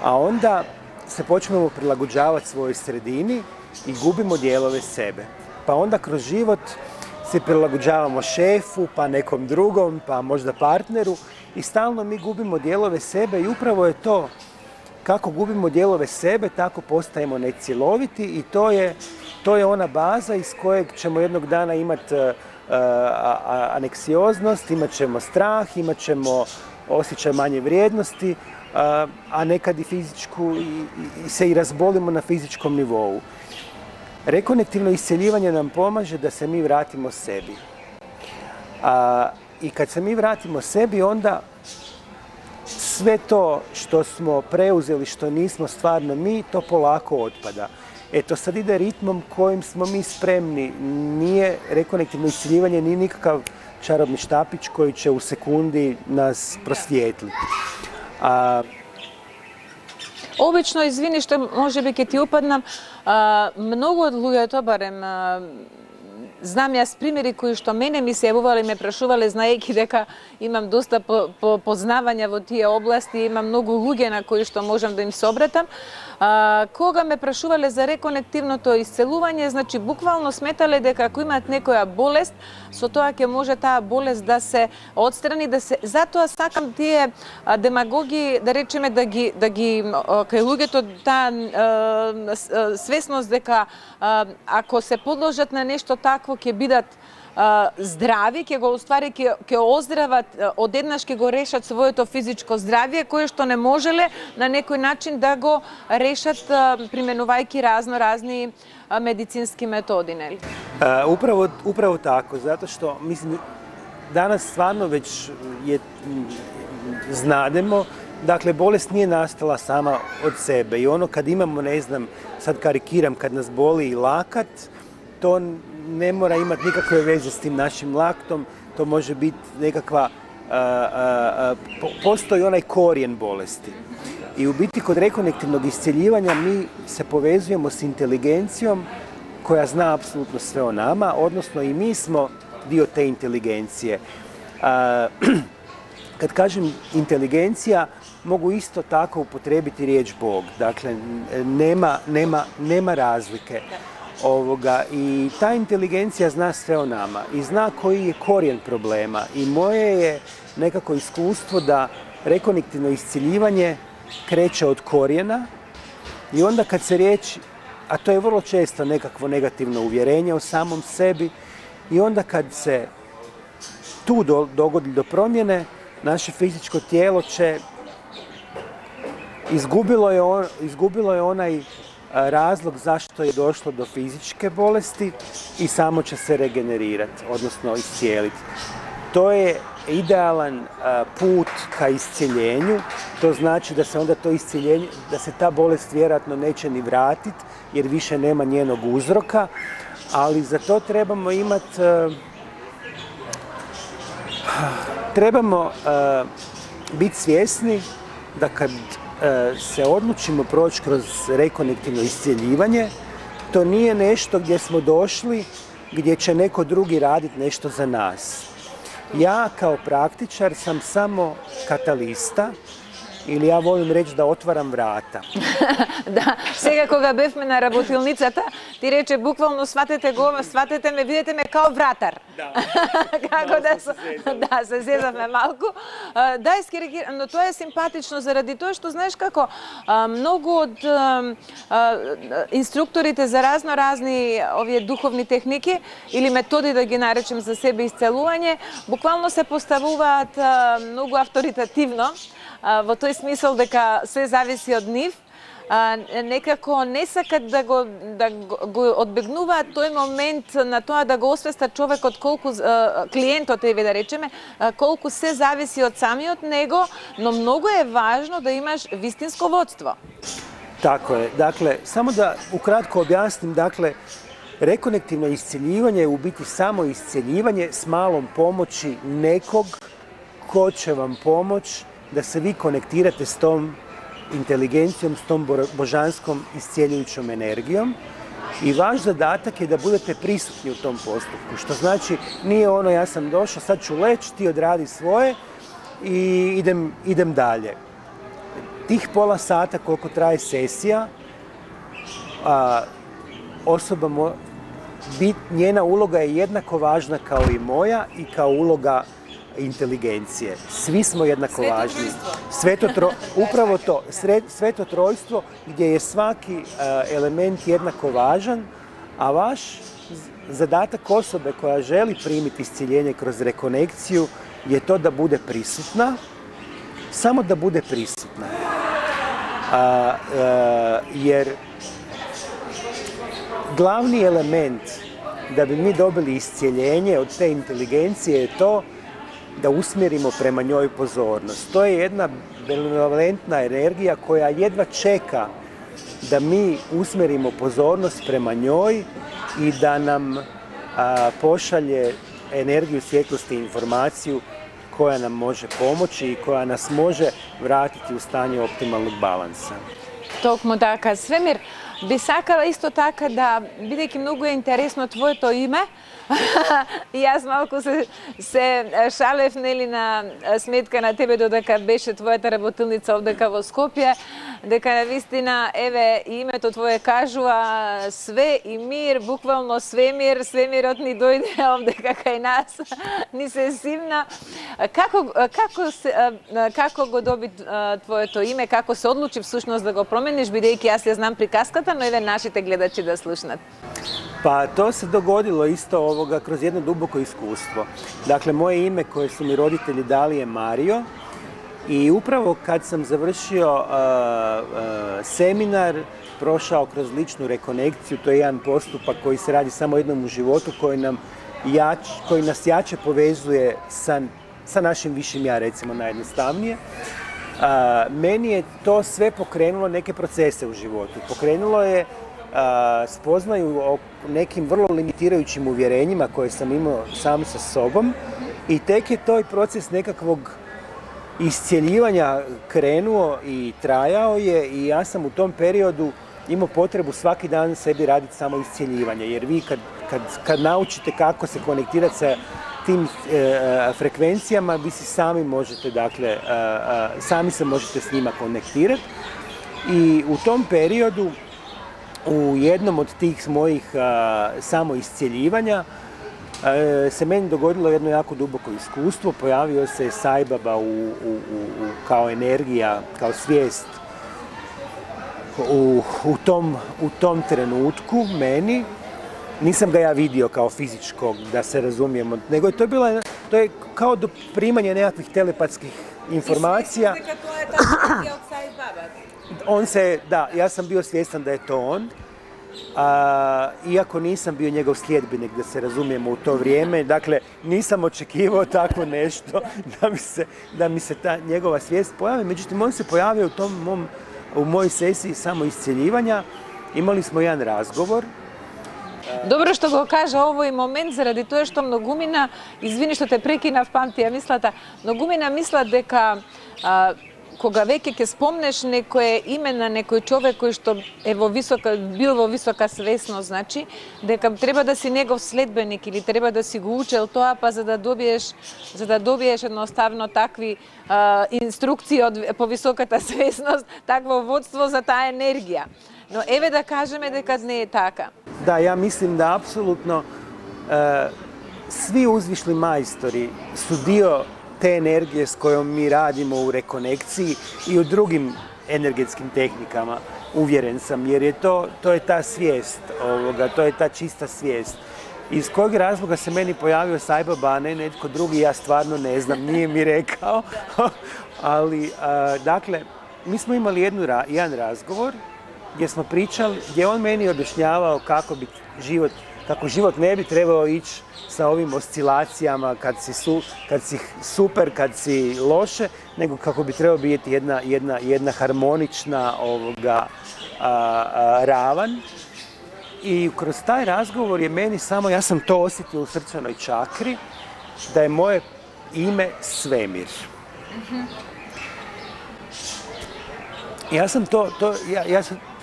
a onda se počnemo prilagođavati svojoj sredini i gubimo dijelove sebe. Pa onda kroz život se prilagođavamo šefu, pa nekom drugom, pa možda partneru i stalno mi gubimo dijelove sebe i upravo je to. Kako gubimo dijelove sebe, tako postajemo necjeloviti i to je ona baza iz kojeg ćemo jednog dana imati aneksioznost, imat ćemo strah, imat ćemo osjećaj manje vrijednosti, a nekad i fizičku se i razbolimo na fizičkom nivou. Rekonektivno isceljivanje nam pomaže da se mi vratimo sebi. I kad se mi vratimo sebi, onda sve to što smo preuzeli, što nismo stvarno mi, to polako otpada. Eto, sad ide ritmom kojim smo mi spremni. Nije rekonektivno isciljivanje, nije nikakav čarobni štapić koji će u sekundi nas prosvijetliti. Обично, извини што може би ќе ти упаднам, многу од луѓето, барем знам јас примери кои што мене ми се јавувале и ме прашувале, знаејќи дека имам доста познавања во тие области, имам многу луѓе на кои што можам да им се обратам. Кога ме прашувале за реконективното исцелување, значи буквално сметале дека ако имаат некоја болест, со тоа ќе може таа болест да се отстрани, затоа сакам тие демагоги, да речеме, да ги кај луѓето таа свесност дека ако се подложат на нешто такво ќе бидат здрави, ќе го уствари, ќе оздрават, одеднаш ќе го решат своето физичко здравје, кое што не можеле на некој начин да го решат применувајќи разни медицински методи, нели? Upravo tako, zato što, mislim, danas stvarno već znademo, dakle, bolest nije nastala sama od sebe i ono kad imamo, ne znam, sad karikiram, kad nas boli lakat, to ne mora imati nikakve veze s tim našim laktom, to može biti nekakva, postoji onaj korijen bolesti. I u biti kod rekonektivnog iscjeljivanja mi se povezujemo s inteligencijom koja zna apsolutno sve o nama, odnosno i mi smo dio te inteligencije. Kad kažem inteligencija, mogu isto tako upotrijebiti riječ Bog. Dakle, nema razlike. I ta inteligencija zna sve o nama i zna koji je korijen problema. I moje je nekako iskustvo da rekonektivno isciljivanje kreće od korijena i onda kad se riječ, a to je vrlo često nekakvo negativno uvjerenje o samom sebi, i onda kad se tu dogodi do promjene, naše fizičko tijelo će izgubilo je onaj razlog zašto je došlo do fizičke bolesti i samo će se regenerirati, odnosno iscijeliti. To je idealan put ka iscijeljenju, to znači da se onda to iscijeljenje, da se ta bolest vjerojatno neće ni vratiti jer više nema njenog uzroka, ali za to trebamo imati, trebamo biti svjesni da kad se odlučimo proći kroz rekonektivno iscijeljivanje, to nije nešto gdje smo došli, gdje će neko drugi raditi nešto za nas. Ja kao praktičar sam samo katalista, или ја волим реч да отварам врата. Да, сега кога бевме на работилницата, ти рече буквално сватете ме, видете ме као вратар. Да. Како се зезавме малку. Да, но тоа е симпатично заради тоа што знаеш како многу од инструкторите за разни овие духовни техники или методи, да ги наречем, за себе исцелување, буквално се поставуваат многу авторитативно, во тој смисол дека се зависи од нив, некако не сакат да го одбегнуваат тој момент на тоа да го освестат човекот колку, клиентот, да речеме, колку се зависи од самиот него, но многу е важно да имаш вистинско водство. Tako je. Dakle, samo da ukratko objasnim, dakle, rekonektivno iscijeljivanje je u biti samo iscijeljivanje s malom pomoći nekog ko će vam pomoći da se vi konektirate s tom inteligencijom, s tom božanskom iscijeljujućom energijom. I vaš zadatak je da budete prisutni u tom postupku, što znači nije ono ja sam došao, sad ću leći, ti odradi svoje i idem dalje. Tih pola sata koliko traje sesija, njena uloga je jednako važna kao i moja i kao uloga inteligencije. Svi smo jednako važni. Upravo to, sveto trojstvo gdje je svaki element jednako važan, a vaš zadatak osobe koja želi primiti iscjeljenje kroz rekonekciju je to da bude prisutna, samo da bude prisutna. Jer glavni element da bi mi dobili iscjeljenje od te inteligencije je to da usmjerimo prema njoj pozornost. To je jedna benevolentna energija koja jedva čeka da mi usmerimo pozornost prema njoj i da nam pošalje energiju svjetlosti i informaciju koja nam može pomoći i koja nas može vratiti u stanje optimalnog balansa. Токму така, Свемир, би сакала исто така да, бидејќи многу е интересно твоето име, и јас малку се шалев нели на сметка на тебе додека беше твојата работилница овдека во Скопје, дека навистина еве името твое кажува све и мир, буквално свемир, свемирот ни дојде овдека кај нас, ни се симна. Како го доби твоето име, како се одлучи всушност да го промениш, бидејќи јас ја знам приказката, но еве нашите гледачи да слушнат. Pa to se dogodilo isto kroz jedno duboko iskustvo. Dakle, moje ime koje su mi roditelji dali je Mario i upravo kad sam završio seminar, prošao kroz ličnu rekonekciju, to je jedan postupak koji se radi samo jednom u životu, koji nas jače povezuje sa našim višim ja, recimo najjednostavnije. Meni je to sve pokrenulo neke procese u životu. Pokrenulo je spoznaju o nekim vrlo limitirajućim uvjerenjima koje sam imao sam sa sobom i tek je taj proces nekakvog iscjeljivanja krenuo i trajao je i ja sam u tom periodu imao potrebu svaki dan sebi raditi samo iscjeljivanje, jer vi kad naučite kako se konektirati sa tim frekvencijama, vi si sami možete, dakle, sami se možete s njima konektirati i u tom periodu u jednom od tih mojih samoiscjeljivanja se meni dogodilo jedno jako duboko iskustvo. Pojavio se Sai Baba kao energija, kao svijest u tom trenutku meni. Nisam ga ja vidio kao fizičkog, da se razumijemo, nego to je kao do primanja nekakvih telepatskih informacija. I svjesni to je ta energija od Sai Baba? Ja sam bio svjestan da je to on, iako nisam bio njegov sljedbenik, da se razumijemo u to vrijeme, dakle nisam očekivao tako nešto da mi se ta njegova svijest pojavi, međutim on se pojavio u mojoj sesiji samoiscjeljivanja, imali smo jedan razgovor. Добро што го кажа овој момент, заради тоа што многумина, извини што те прекинав, памти ја мислата, многумина мислат дека кога веќе ќе спомнеш некое име на некој човек кој што е бил во висока свесност, значи дека треба да си негов следбеник или треба да си го учел тоа, па за да добиеш едноставно такви инструкции по високата свесност, такво водство за таа енергија. Но еве да кажеме дека не е така. Da, ja mislim da apsolutno svi uzvišli majstori su dio te energije s kojom mi radimo u rekonekciji i u drugim energetskim tehnikama, uvjeren sam, jer je to je ta svijest to je ta čista svijest. Iz kojeg razloga se meni pojavio Sai Baba, a ne netko drugi, ja stvarno ne znam, nije mi rekao, ali dakle, mi smo imali jedan razgovor gdje smo pričali, gdje on meni objašnjavao kako život ne bi trebao ići sa ovim oscilacijama kad si super, kad si loše, nego kako bi trebao biti jedna harmonična ravan. I kroz taj razgovor je meni samo, ja sam to osjetio u srčanoj čakri, da je moje ime Svemir.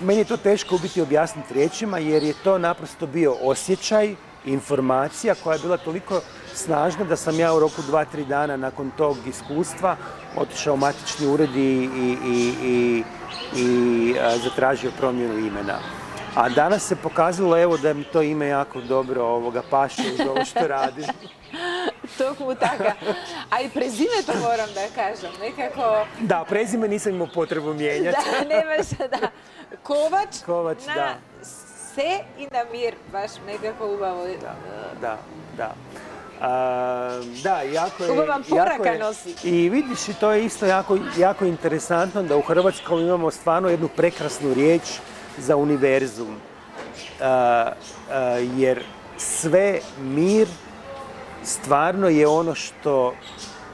Meni je to teško u biti objasniti riječima, jer je to naprosto bio osjećaj, informacija koja je bila toliko snažna da sam ja u roku 2-3 dana nakon tog iskustva otišao u matični ured i zatražio promjenu imena. A danas se pokazalo evo da mi to ime jako dobro paše uz ovo što radim. Токму така. А и презимето морам да кажам, некако... Да, презиме nisam imao potrebu mijenjati. Да, немаше, да. Ковач на да. се и на мир, баш некако убаво. Da. Da, jako je... Ubavam poraka nosi. I vidiš, to je isto jako interesantno da u Hrvatskoj imamo stvarno jednu prekrasnu riječ za univerzum. Jer sve mir stvarno je ono što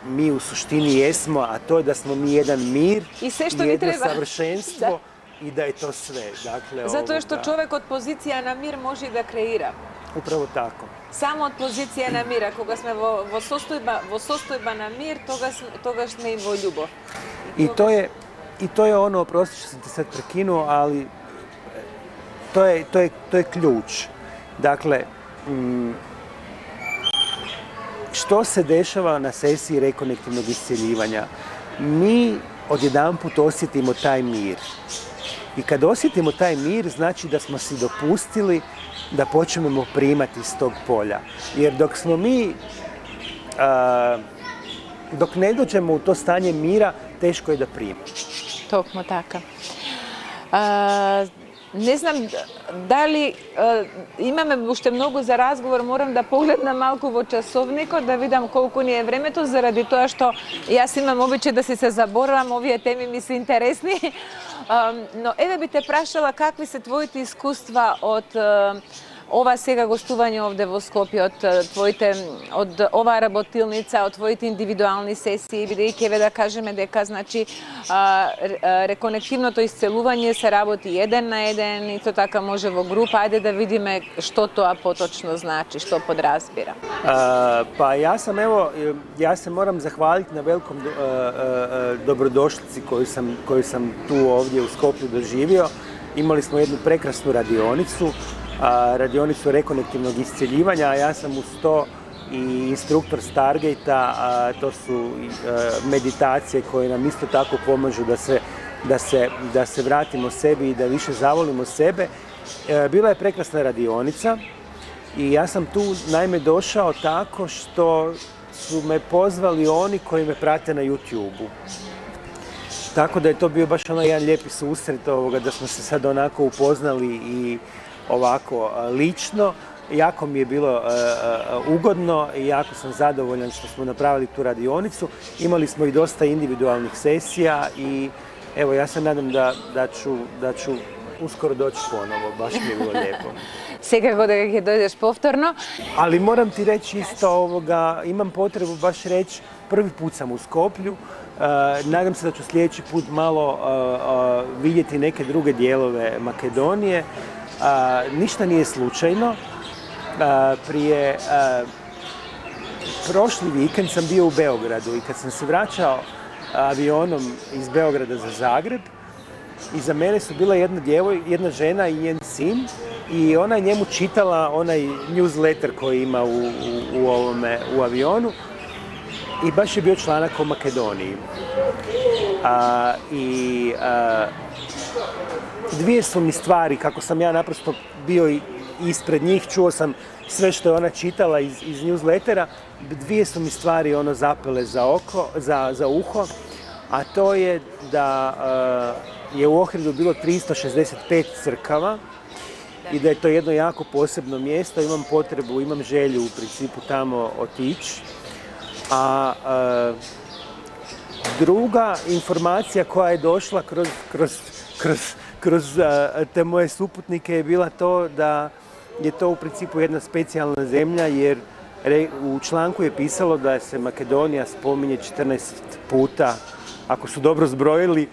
mi u suštini jesmo, a to je da smo mi jedan mir i jedno savršenstvo i da je to sve. Dakle, Zato je što čovek od pozicija na mir može i da kreira. Upravo tako. Само од позиција на мир, кога сме во состојба на мир, тогаш сме и во љубов. I to je ono, oprosti što sam te sad prekinuo, ali to je ključ. Dakle, što se dešava na sesiji rekonektivnog iscjeljivanja? Mi odjedanput osjetimo taj mir. I kad osjetimo taj mir, znači da smo si dopustili da počnemo primati iz tog polja. Jer dok smo mi, dok ne dođemo u to stanje mira, teško je da primimo. Токму така. Не знам дали имаме уште многу за разговор, морам да погледнам малку во часовникот, да видам колку ни е времето, заради тоа што јас имам обичај да се заборавам, овие теми ми се интересни. Но еве би те прашала какви се твоите искуства од ова сега гостување овде во Скопје, од оваа работилница, од твоите индивидуални сесии, бидејќи еве да кажеме дека значи реконективното исцелување се работи еден на еден, исто така може во група. Ајде да видиме што тоа поточно значи, што подразбира. Pa ja se moram zahvaliti na velikom dobrodošlici koju sam tu ovdje u Skoplju doživio. Imali smo jednu prekrasnu radionicu rekonektivnog iscjeljivanja, a ja sam uz to i instruktor Stargate-a, to su meditacije koje nam isto tako pomažu da se vratimo sebi i da više zavolimo sebe. Bila je prekrasna radionica i ja sam tu naime došao tako što su me pozvali oni koji me prate na YouTube-u. Tako da je to bio baš jedan lijepi susret da smo se sad onako upoznali i ovako lično. Jako mi je bilo ugodno i jako sam zadovoljan što smo napravili tu radionicu. Imali smo i dosta individualnih sesija i evo ja se nadam da ću uskoro doći ponovo, baš mi je bilo lijepo. Секако дека ќе дојдеш повторно. Ali moram ti reći isto imam potrebu baš reći, prvi put sam u Skoplju. Nadam se da ću sljedeći put malo vidjeti neke druge dijelove Makedonije. Ništa nije slučajno. Prošli vikend sam bio u Beogradu i kad sam se vraćao avionom iz Beograda za Zagreb, iza mene su bila jedna žena i njen sin i ona je njemu čitala onaj newsletter koji ima u avionu i baš je bio članak o Makedoniji. Dvije su mi stvari, kako sam ja naprosto bio ispred njih, čuo sam sve što je ona čitala iz newslettera, dvije su mi stvari zapele za uho, a to je da je u Ohridu bilo 365 crkava i da je to jedno jako posebno mjesto. Imam želju u principu tamo otići. A druga informacija koja je došla kroz te moje suputnike je bila to da je to u principu jedna specijalna zemlja, jer u članku je pisalo da se Makedonija spominje 14 puta, ako su dobro zbrojili,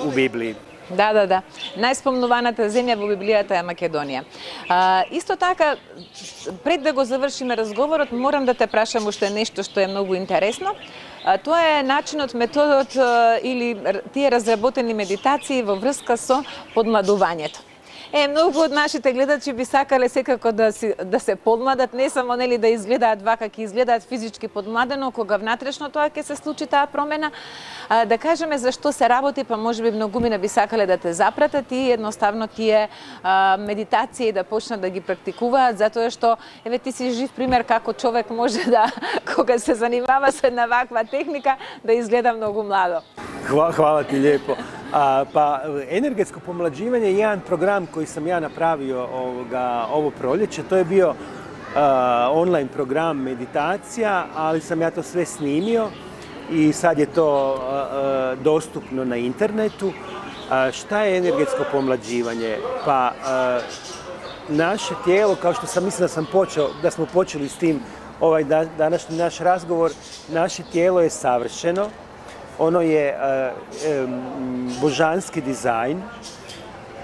u Библии. Да. Најспомнуваната земја во Библијата е Македонија. Исто така, пред да го завршиме разговорот, морам да те прашам уште нешто што е многу интересно. Тоа е начинот, методот или тие разработени медитации во врска со подмладувањето. Многу од нашите гледачи би сакале секако да се подмладат, не само да изгледаат вака, ќе изгледаат физички подмладено, кога внатрешно тоа ќе се случи таа промена. Да кажеме зашто се работи, па можеби многумина би сакале да те запратат и едноставно тие медитации да почнат да ги практикуваат, затоа што еве ти си жив пример како човек може да, кога се занимава со една ваква техника, да изгледа многу младо. Hvala ti lijepo. Pa energetsko pomlađivanje je jedan program koji sam ja napravio ovo proljeće. To je bio online program meditacija, ali sam ja to sve snimio i sad je to dostupno na internetu. Šta je energetsko pomlađivanje? Pa naše tijelo, kao što sam mislio da smo počeli s tim današnji naš razgovor, naše tijelo je savršeno. Ono je božanski dizajn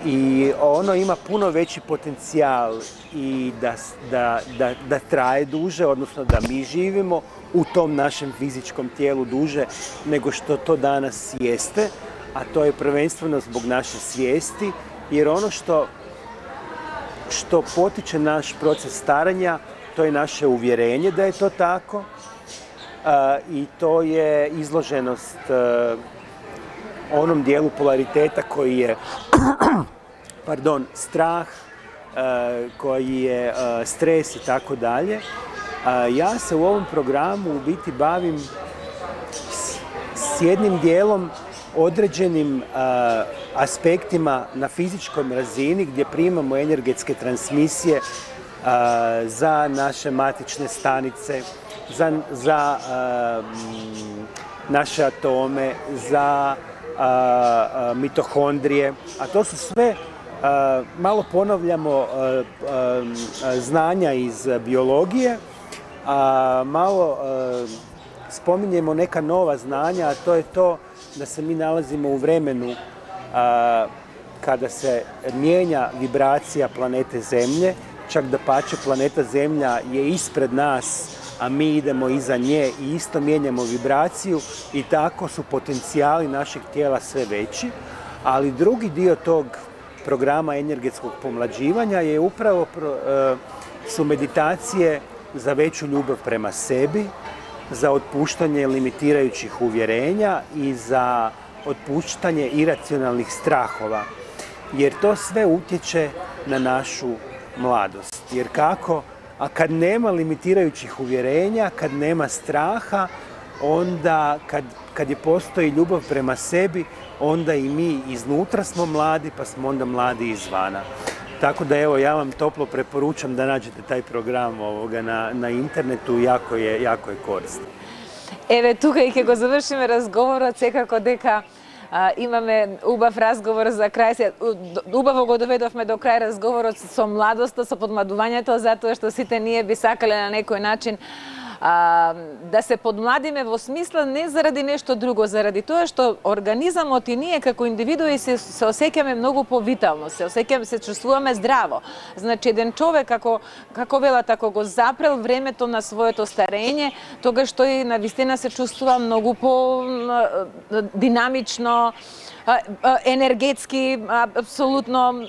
i ono ima puno veći potencijal i da traje duže, odnosno da mi živimo u tom našem fizičkom tijelu duže nego što to danas jeste, a to je prvenstveno zbog naše svijesti, jer ono što potiče naš proces starenja, to je naše uvjerenje da je to tako i to je izloženost onom dijelu polariteta koji je strah, koji je stres i tako dalje. Ja se u ovom programu u biti bavim s jednim dijelom određenim aspektima na fizičkom razini gdje primamo energetske transmisije za naše matične stanice, za naše atome, za mitohondrije, a to su sve, malo ponavljamo znanja iz biologije, a malo spominjemo neka nova znanja, a to je to da se mi nalazimo u vremenu kada se mijenja vibracija planete Zemlje, čak dapače planeta Zemlja je ispred nas, a mi idemo iza nje i isto mijenjamo vibraciju i tako su potencijali našeg tijela sve veći, ali drugi dio tog programa energetskog pomlađivanja je upravo su meditacije za veću ljubav prema sebi, za otpuštanje limitirajućih uvjerenja i za otpuštanje iracionalnih strahova, jer to sve utječe na našu mladost. Jer kako? A kad nema limitirajućih uvjerenja, kad nema straha, onda kad je postoji ljubav prema sebi, onda i mi iznutra smo mladi, pa smo onda mladi izvana. Tako da evo, ja vam toplo preporučam da nađete taj program na internetu, jako je korisno. Еве, тука и ќе го завршиме разговорот, секако дека имаме убав разговор за крај. Убаво го доведовме до крај разговорот со младоста, со подмладувањето, затоа што сите ние би сакале на некој начин да се подмладиме во смисла не заради нешто друго, заради тоа што организамот и ние како индивидуи се осеќаме многу повитално, се чувствуваме здраво. Значи, еден човек како велат, ако го запрел времето на своето старење, тогаш тој навистина се чувствува многу по динамично, енергетски, апсолутно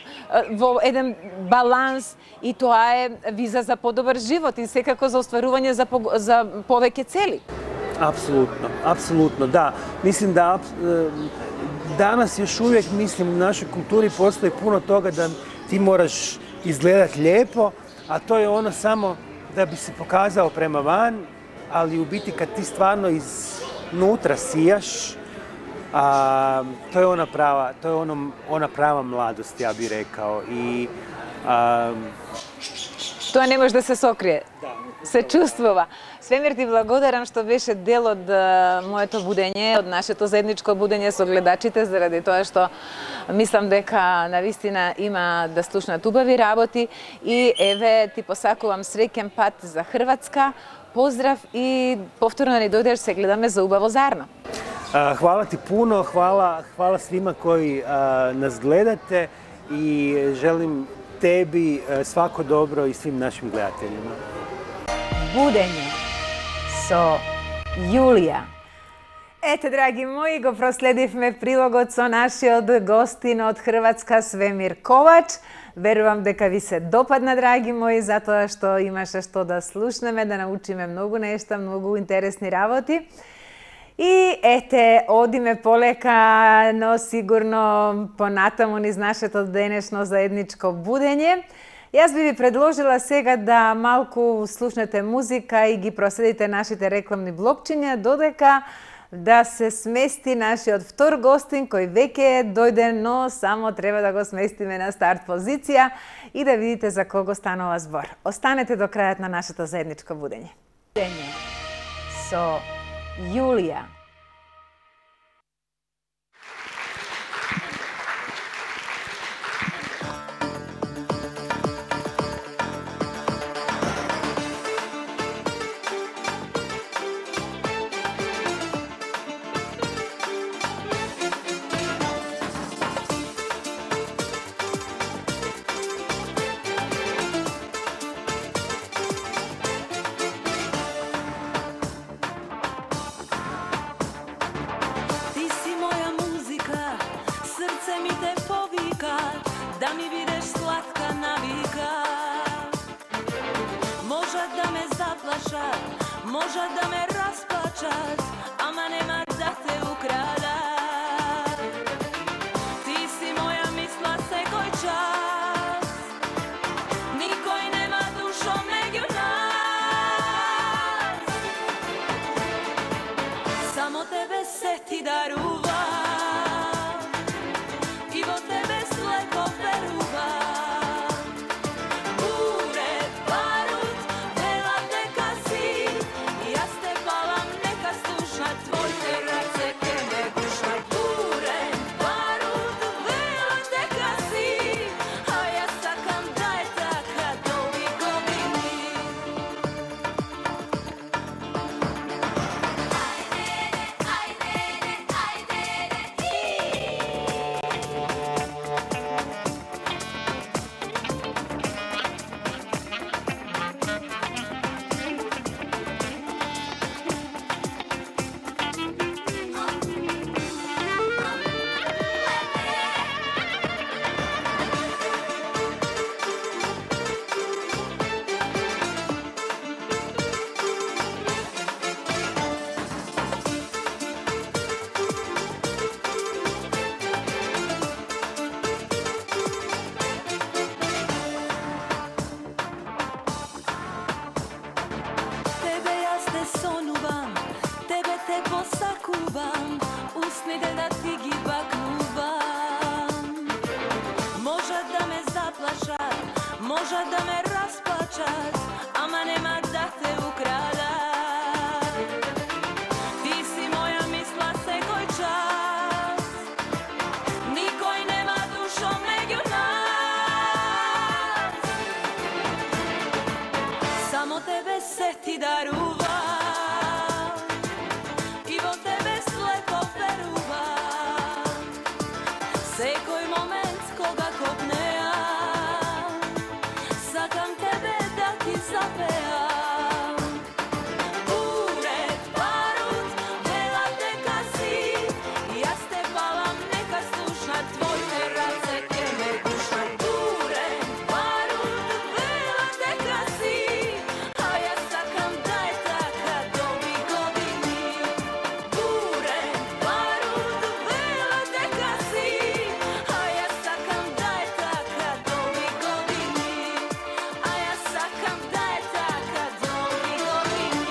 во еден баланс, и тоа е виза за подобар живот и секако за остварување за повеќе цели. Apsolutno, da. Mislim da danas još uvijek, u našoj kulturi postoji puno toga da ti moraš izgledat lijepo, a to je ono samo da bi se pokazao prema van, ali u biti kad ti stvarno iznutra sijaš, to je ona prava mladost, ja bih rekao. Тоа не може да се сокрие. Се чувствува. Свемир, ти благодарам што беше дел од моето будење, од нашето заедничко будење со гледачите, заради тоа што мислам дека навистина има да слушнат убави работи и еве ти посакувам среќен пат за Хрватска. Поздрав и повторно ни дојдеш, се гледаме за убаво зарно. Hvala ti puno, hvala svima koji nas gledate i želim tebi svako dobro i svim našim gledateljima. Budenje со Јулија. Ете, драги мои, го проследивме прилогот со нашиот гостин од Хрватска Свемир Ковач. Верувам дека ви се допадна, драги мои, затоа што имаше што да слушнеме, да научиме многу нешта, многу интересни работи. И ете, одиме полека, но сигурно понатаму низ нашето денешно заедничко будење. Јас би ви предложила сега да малку слушнете музика и ги проследите нашите рекламни блокчиња, додека да се смести нашиот втор гостин, кој веќе дојде, но само треба да го сместиме на старт позиција и да видите за кого станува збор. Останете до крајот на нашето заедничко будење. Будење со Јулија. slatка navika. Možda da me zaplašat, možda da me rasplačat, ama nema da te ukrada. Ti si moja misla sekoj čas, nikoj nema dušom nego nas. Samo tebe se ti daruva, i vo tebe slepo veruva. Možda da me rasplačat, ama nema da te ukrada. Ti si moja misla sekoj čas, nikoj nema dušom nego nas. Samo tebe se ti daruva, i vo tebe slepo veruva. Sekoj moment koga kopnea, sakam tebe da ti zapeam. Ured, barut, vela teka si, ja ste palam neka slušat, tvoj terase ke me gušat. Ured, barut, vela teka si, a ja sakam da je taka do ovi godini. Ured, barut, vela teka si, a ja sakam da je taka do ovi godini. A ja sakam da je taka do ovi godini.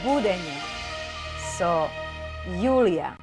Budenje so Julija.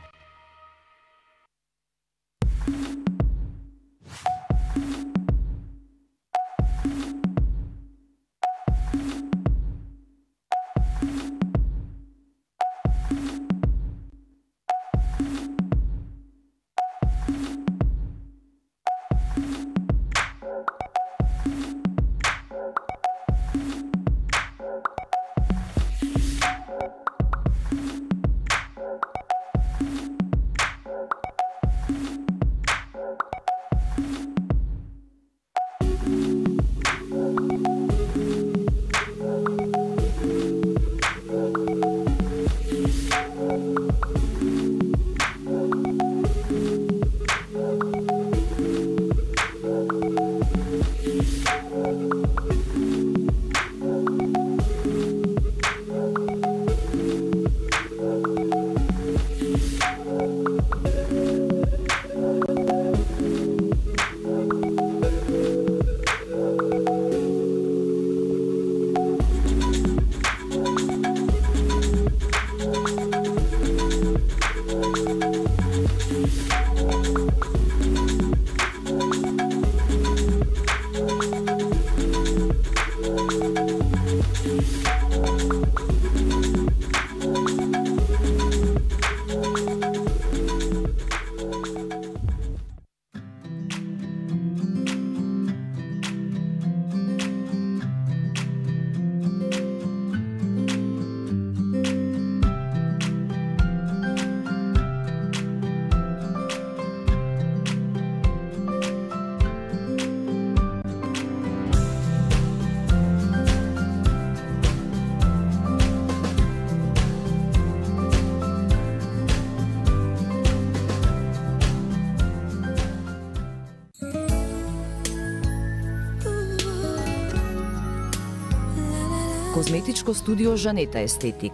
Козметичко студио Жанета Естетик.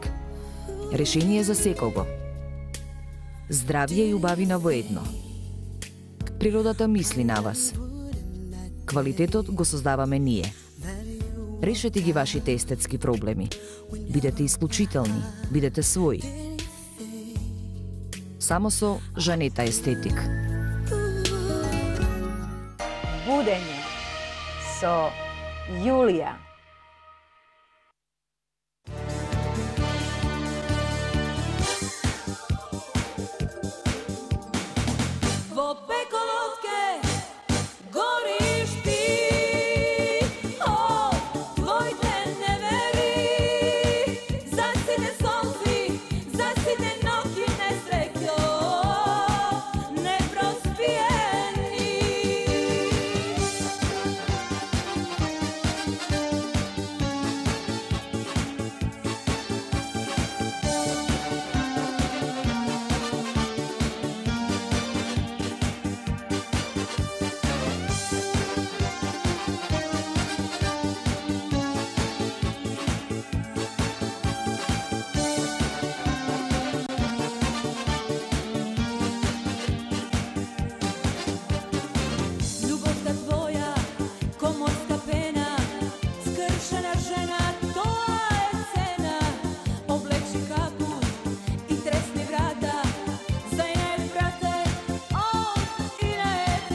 Решение за секого. Здравје и убавина во едно. Природата мисли на вас. Квалитетот го создаваме ние. Решете ги вашите естетски проблеми. Бидете исклучителни, бидете своји. Само со Жанета Естетик. Будење со Јулија. Во пеколотке гориш ти, о, твоите невери, за сите солзи, за сите ноќи несреќо, непроспиени. Љубовта твоја, ко морска пена, скршена жена, тоа е цена. Облечи капут и тресни врата, зајнет брате, од и наед.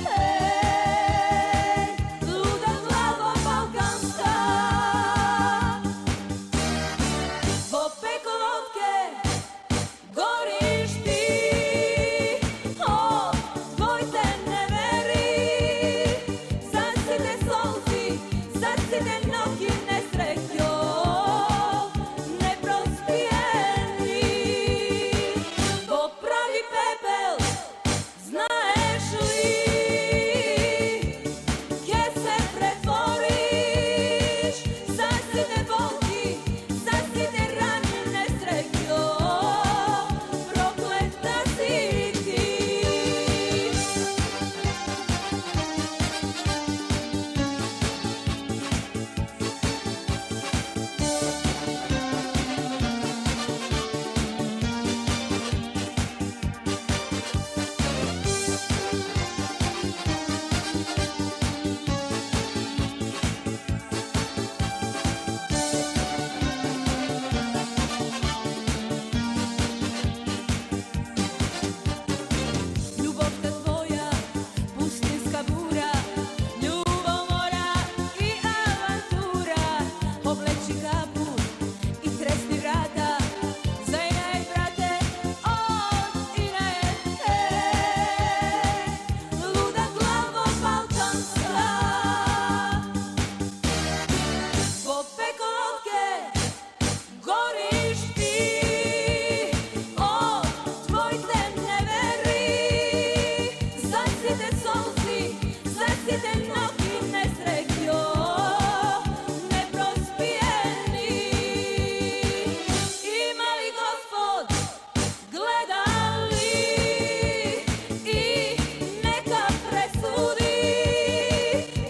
Луда глава балканска, во пеколотке гориш ти, о, твоите невери, за сите солзи, за сите ноќи несреќо, непроспиени. Во прави пепел, знаеш ли, ке се претвориш, за сите болки, за сите рани несреќо, проклета си ти. Љубовта твоја, пустинска бура, љубомора и авантура. Облечи капут и тресни врата, зајнет брате, од и наед. Луда главо балканска, во пеколотке гориш ти, о, твоите невери, за сите солзи, за сите ноќи несреќо, непроспиени. Има ли Господ, гледа ли и нека пресуди,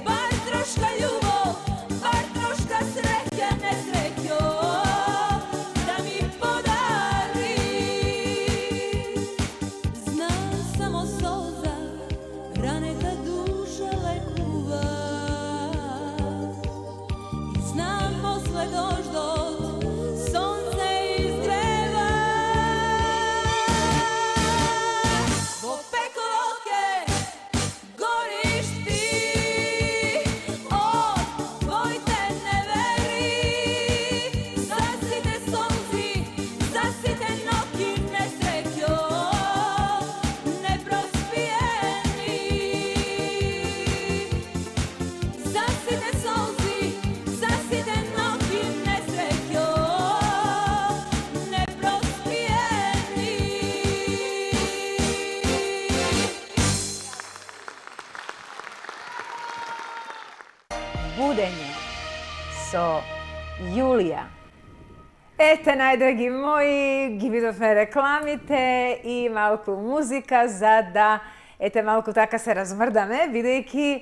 бар трошка љубов, бар трошка среќа, несреќо, да ми подари. Знам само солза, ранета душа лекува, и знам после дождот сонце изгрева. Во пеколотке гориш ти, о, твоите невери, за сите солзи, за сите ноќи несреќо, непроспиени. За сите солзи, за сите ноќи несреќо, непроспиени. Будење со Јулија. Ете, најдраги мои, ги видовме рекламите и малку музика за да, ете, малку така се размрдаме, бидејќи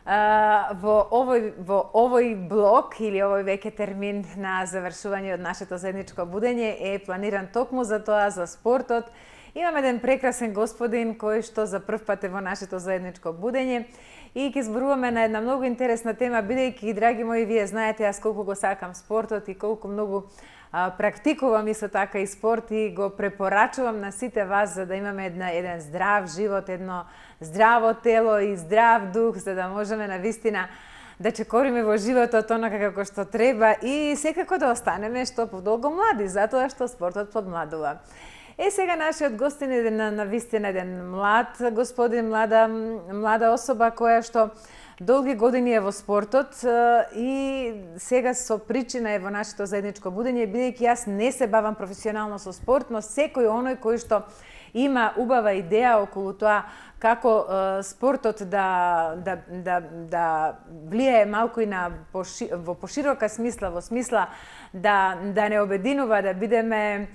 во овој блок или овој веќе термин на завршување од нашето заедничко будење е планиран токму за тоа, за спортот. Имаме еден прекрасен господин кој што за прв пат е во нашето заедничко будење и ќе зборуваме на една многу интересна тема, бидејќи, драги мои, вие знаете јас колку го сакам спортот и колку многу практикувам исто така и спорт и го препорачувам на сите вас за да имаме еден здрав живот, едно здраво тело и здрав дух, за да можеме навистина да чекориме во животот онака како што треба и секако да останеме што подолго млади, затоа што спортот подмладува. Сега нашиот гостин е навистина еден млад господин, млада особа која што долги години е во спортот и сега со причина е во нашето заедничко будење, бидејќи јас не се бавам професионално со спорт, но секој оној кој што има убава идеја околу тоа како спортот да влијае малку и во поширока смисла, во смисла да не обединува, да бидеме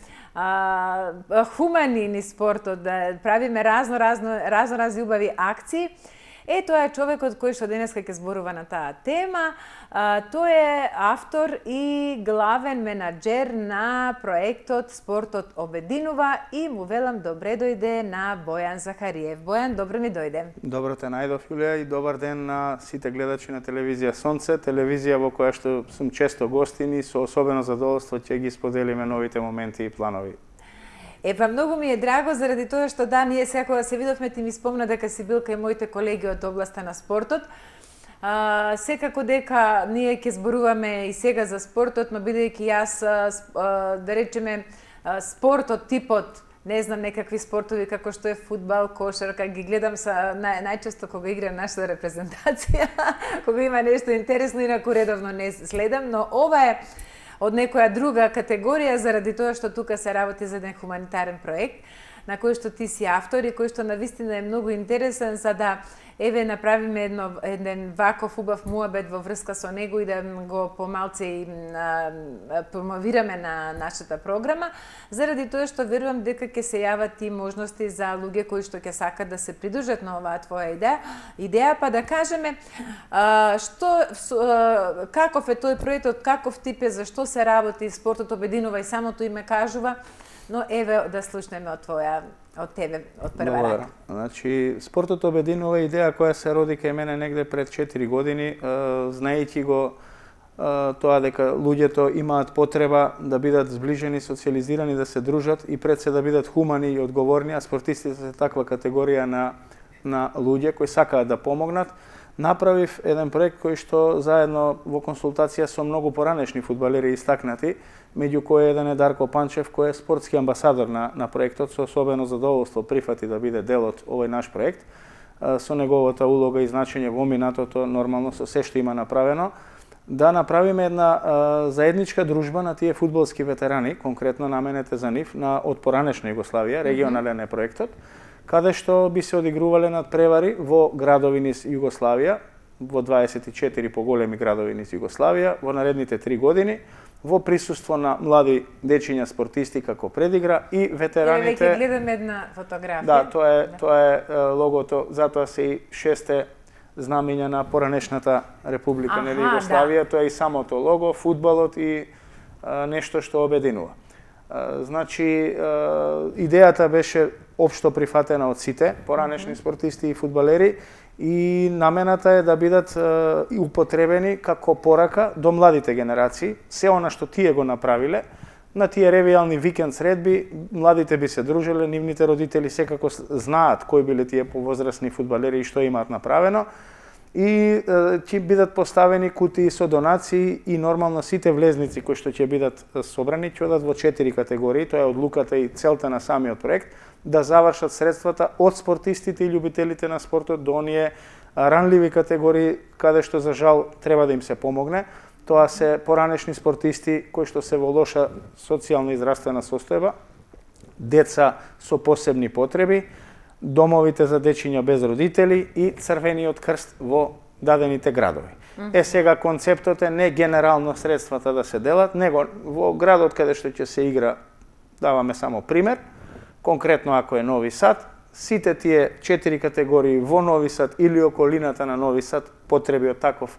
хумани низ спортот, да правиме разни убави акции. Тоа е човекот кој што денеска ќе зборува на таа тема. Тој е автор и главен менаџер на проектот Спортот обединува и му велам добре дојде на Бојан Захариев. Бојан, добро ми дојде. Добро те најдов, Јулија, и добар ден на сите гледачи на телевизија Сонце, телевизија во која што сум често гостин и со особено задоволство ќе ги споделиме новите моменти и планови. Многу ми е драго заради тоа што ние сега кога се видовме ти ми спомна дека си бил кај моите колеги од областа на спортот. Секако дека ние ќе зборуваме и сега за спортот, но бидејќи јас, да речеме, спортот, типот, не знам, некакви спортови како што е фудбал, кошарка, ги гледам најчесто кога игра нашата репрезентација, кога има нешто интересно, инаку редовно не следам, но ова е од некоја друга категорија заради тоа што тука се работи за еден хуманитарен проект на кој што ти си автор и кој што навистина е многу интересен за да направиме еден ваков убав муабет во врска со него и да го помалце и промовираме на нашата програма, заради тоа што верувам дека ќе се јават и можности за луѓе кои што ќе сакат да се придружат на оваа твоја идеја, па да кажеме каков е тој проектот, каков тип е, зашто се работи, спортот обединува и самото име кажува, но да слушнеме од тебе, од прва рака. Значи, спортот обединува идеја која се роди кај мене негде пред 4 години, знаејќи го тоа дека луѓето имаат потреба да бидат зближени, социализирани, да се дружат и пред се да бидат хумани и одговорни, а спортистите се таква категорија на луѓе кои сакаат да помогнат. Направив еден проект кој што заедно во консултација со многу поранешни фудбалери истакнати, меѓу кои еден е Дарко Панчев, кој е спортски амбасадор на проектот, со особено задоволство прифати да биде дел од овој наш проект, со неговата улога и значење во минатото, нормално со се што има направено, да направиме една заедничка дружба на тие фудбалски ветерани, конкретно наменете за нив, од поранешна Југославија, регионален е проектот, каде што би се одигрувале надпревари во градови низ Југославија, во 24 поголеми градови низ Југославија, во наредните 3 години, во присуство на млади дечиња спортисти како предигра и ветераните. Веќе гледаме една фотографија. Да, тоа е логото, затоа се и 6 знамења на поранешната Република на Југославија, тоа е и самото лого, фудбалот и нешто што обединува. Значи, идејата беше општо прифатена од сите поранешни спортисти и фудбалери и намената е да бидат употребени како порака до младите генерации. Се она што тие го направиле, на тие ревијални викенд средби, младите би се дружиле, нивните родители секако знаат кои биле тие повозрасни фудбалери и што имаат направено. И ќе бидат поставени кутии со донации и нормално сите влезници кои што ќе бидат собрани ќе одат во 4 категории, тоа е одлуката и целта на самиот проект, да завршат средствата од спортистите и љубителите на спортот до оние ранливи категории каде што за жал треба да им се помогне. Тоа се поранешни спортисти кои што се во лоша социјална и здравствена состојба, деца со посебни потреби, домовите за дечиња без родители и Црвениот крст во дадените градови. Сега концептот е не генерално средствата да се делат, него во градот каде што ќе се игра, даваме само пример, конкретно ако е Нови Сад, сите тие 4 категории во Нови Сад или околината на Нови Сад потреби од таков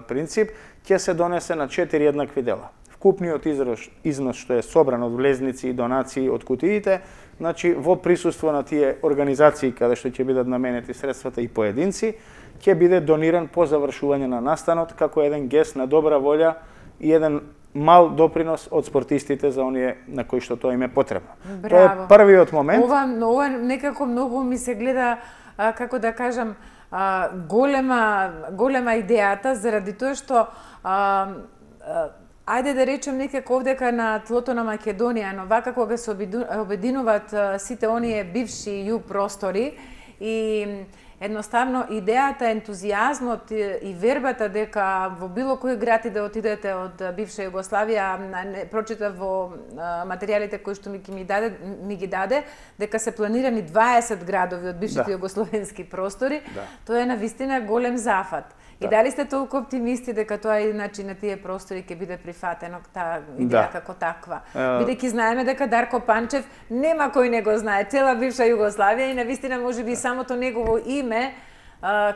принцип ќе се донесе на 4 еднакви дела. Вкупниот износ што е собран од влезници и донации од кутиите, значи во присуство на тие организации каде што ќе бидат наменети средствата и поединци, ќе биде дониран по завршување на настанот како еден гест на добра волја и еден мал допринос од спортистите за оние на кои што тоа им е потребно. Тоа е првиот момент. Ова некако многу ми се гледа, како да кажам, голема идејата, заради тоа што ајде да речем некако овдека на тлото на Македонија, но вака кога се обединуваат сите оние бивши југ простори и едноставно идејата, ентузијазмот и вербата дека во било кој град и да отидете од бивша Југославија, прочитав во материјалите кои што ми ги даде, дека се планирани 20 градови од бившите југословенски простори, тоа е навистина голем зафат. И дали сте толку оптимисти дека тоа иначе на тие простори ќе биде прифатено таа идеја како таква? Бидејќи знаеме дека Дарко Панчев нема кој не го знае, цела бивша Југославија и навистина можеби самото негово име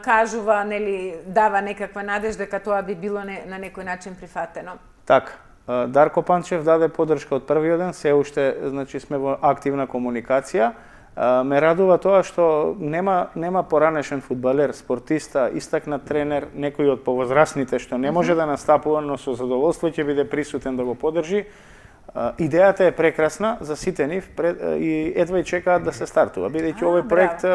кажува, нели, дава некаква надеж дека тоа би било на некој начин прифатено. Така. Дарко Панчев даде поддршка од првиот ден, се уште, значи, сме во активна комуникација. Ме радува тоа што нема поранешен фудбалер, спортиста, истакнат тренер, некој од повозрасните што не може да настапува, но со задоволство ќе биде присутен да го поддржи. Идејата е прекрасна за сите нив и едва и чекаат да се стартува, бидејќи овој проект